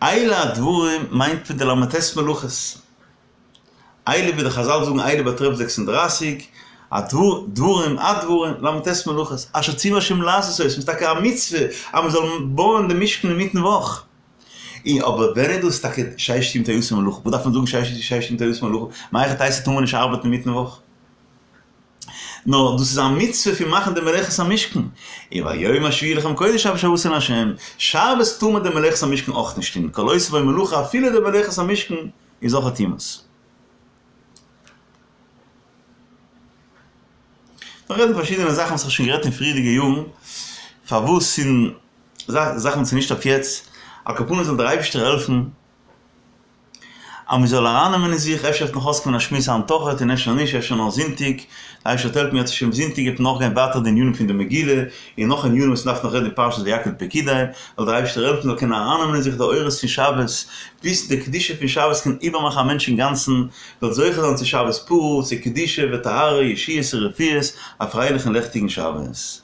אלה הדברים מיינט מען די ל"ט מלאכות. אלה ווי די חזל זאגן אלה באטרעפט 36, הדברים, הדברים, ל"ט מלאכות, אשר ציווה השם לעשות אותם, ס'איז טאקע א מצוה אז מען זאל בויען די משכן אינמיטן וואך. און אבער ווען איז דאס טאקע ששת ימים תעשה מלאכה? וואס דארף מען זאגן ששת ימים תעשה מלאכה? מהיכי תיתי טאר מען נישט ארבעטן אינמיטן וואך? נאר דאס איז א מצוה פון מאכן די מלאכת המשכן, און והיום השביעי לכם קודש שבת שבתון לה', שבת טאר מען די מלאכת המשכן אויך נישט טון, כל העושה בו מלאכה אפילו די מלאכת המשכן איז אויך יומת. מיר רעדן פארשידענע זאכן וואס איך האב שוין גערעדט אין פריערדיגע יארן, פארוואס און זאכן וואס איז נישט אויף יעצט, על כל פנים זאל דער אייבערשטער העלפן אז מען זאל ארייננעמען אין זיך, אפשר וועט נאך אויסקומען א שמועס היינט אויכעט און אפשר נישט, אפשר נאר זונטאג, דער אייבערשטער וועט העלפן אם ירצה השם זונטאג וועט מען נאכגיין ווייטער די ענינים פון די מגילה, און נאך ענינים וואס מען דארף נאך רעדן אין פרשת ויקהל פקודי, זאל דער אייבערשטער העלפן מען זאל קענען ארייננעמען אין זיך די אורות פון שבת, וויסן די קדושה פון שבת קען איבערמאכן א מענטש אינגאנצן, זאל זוכה זיין צו שבת פרה, צו קדושה וטהרה, ישועות ורפואות, א פרייליכן לעכטיגן שבת.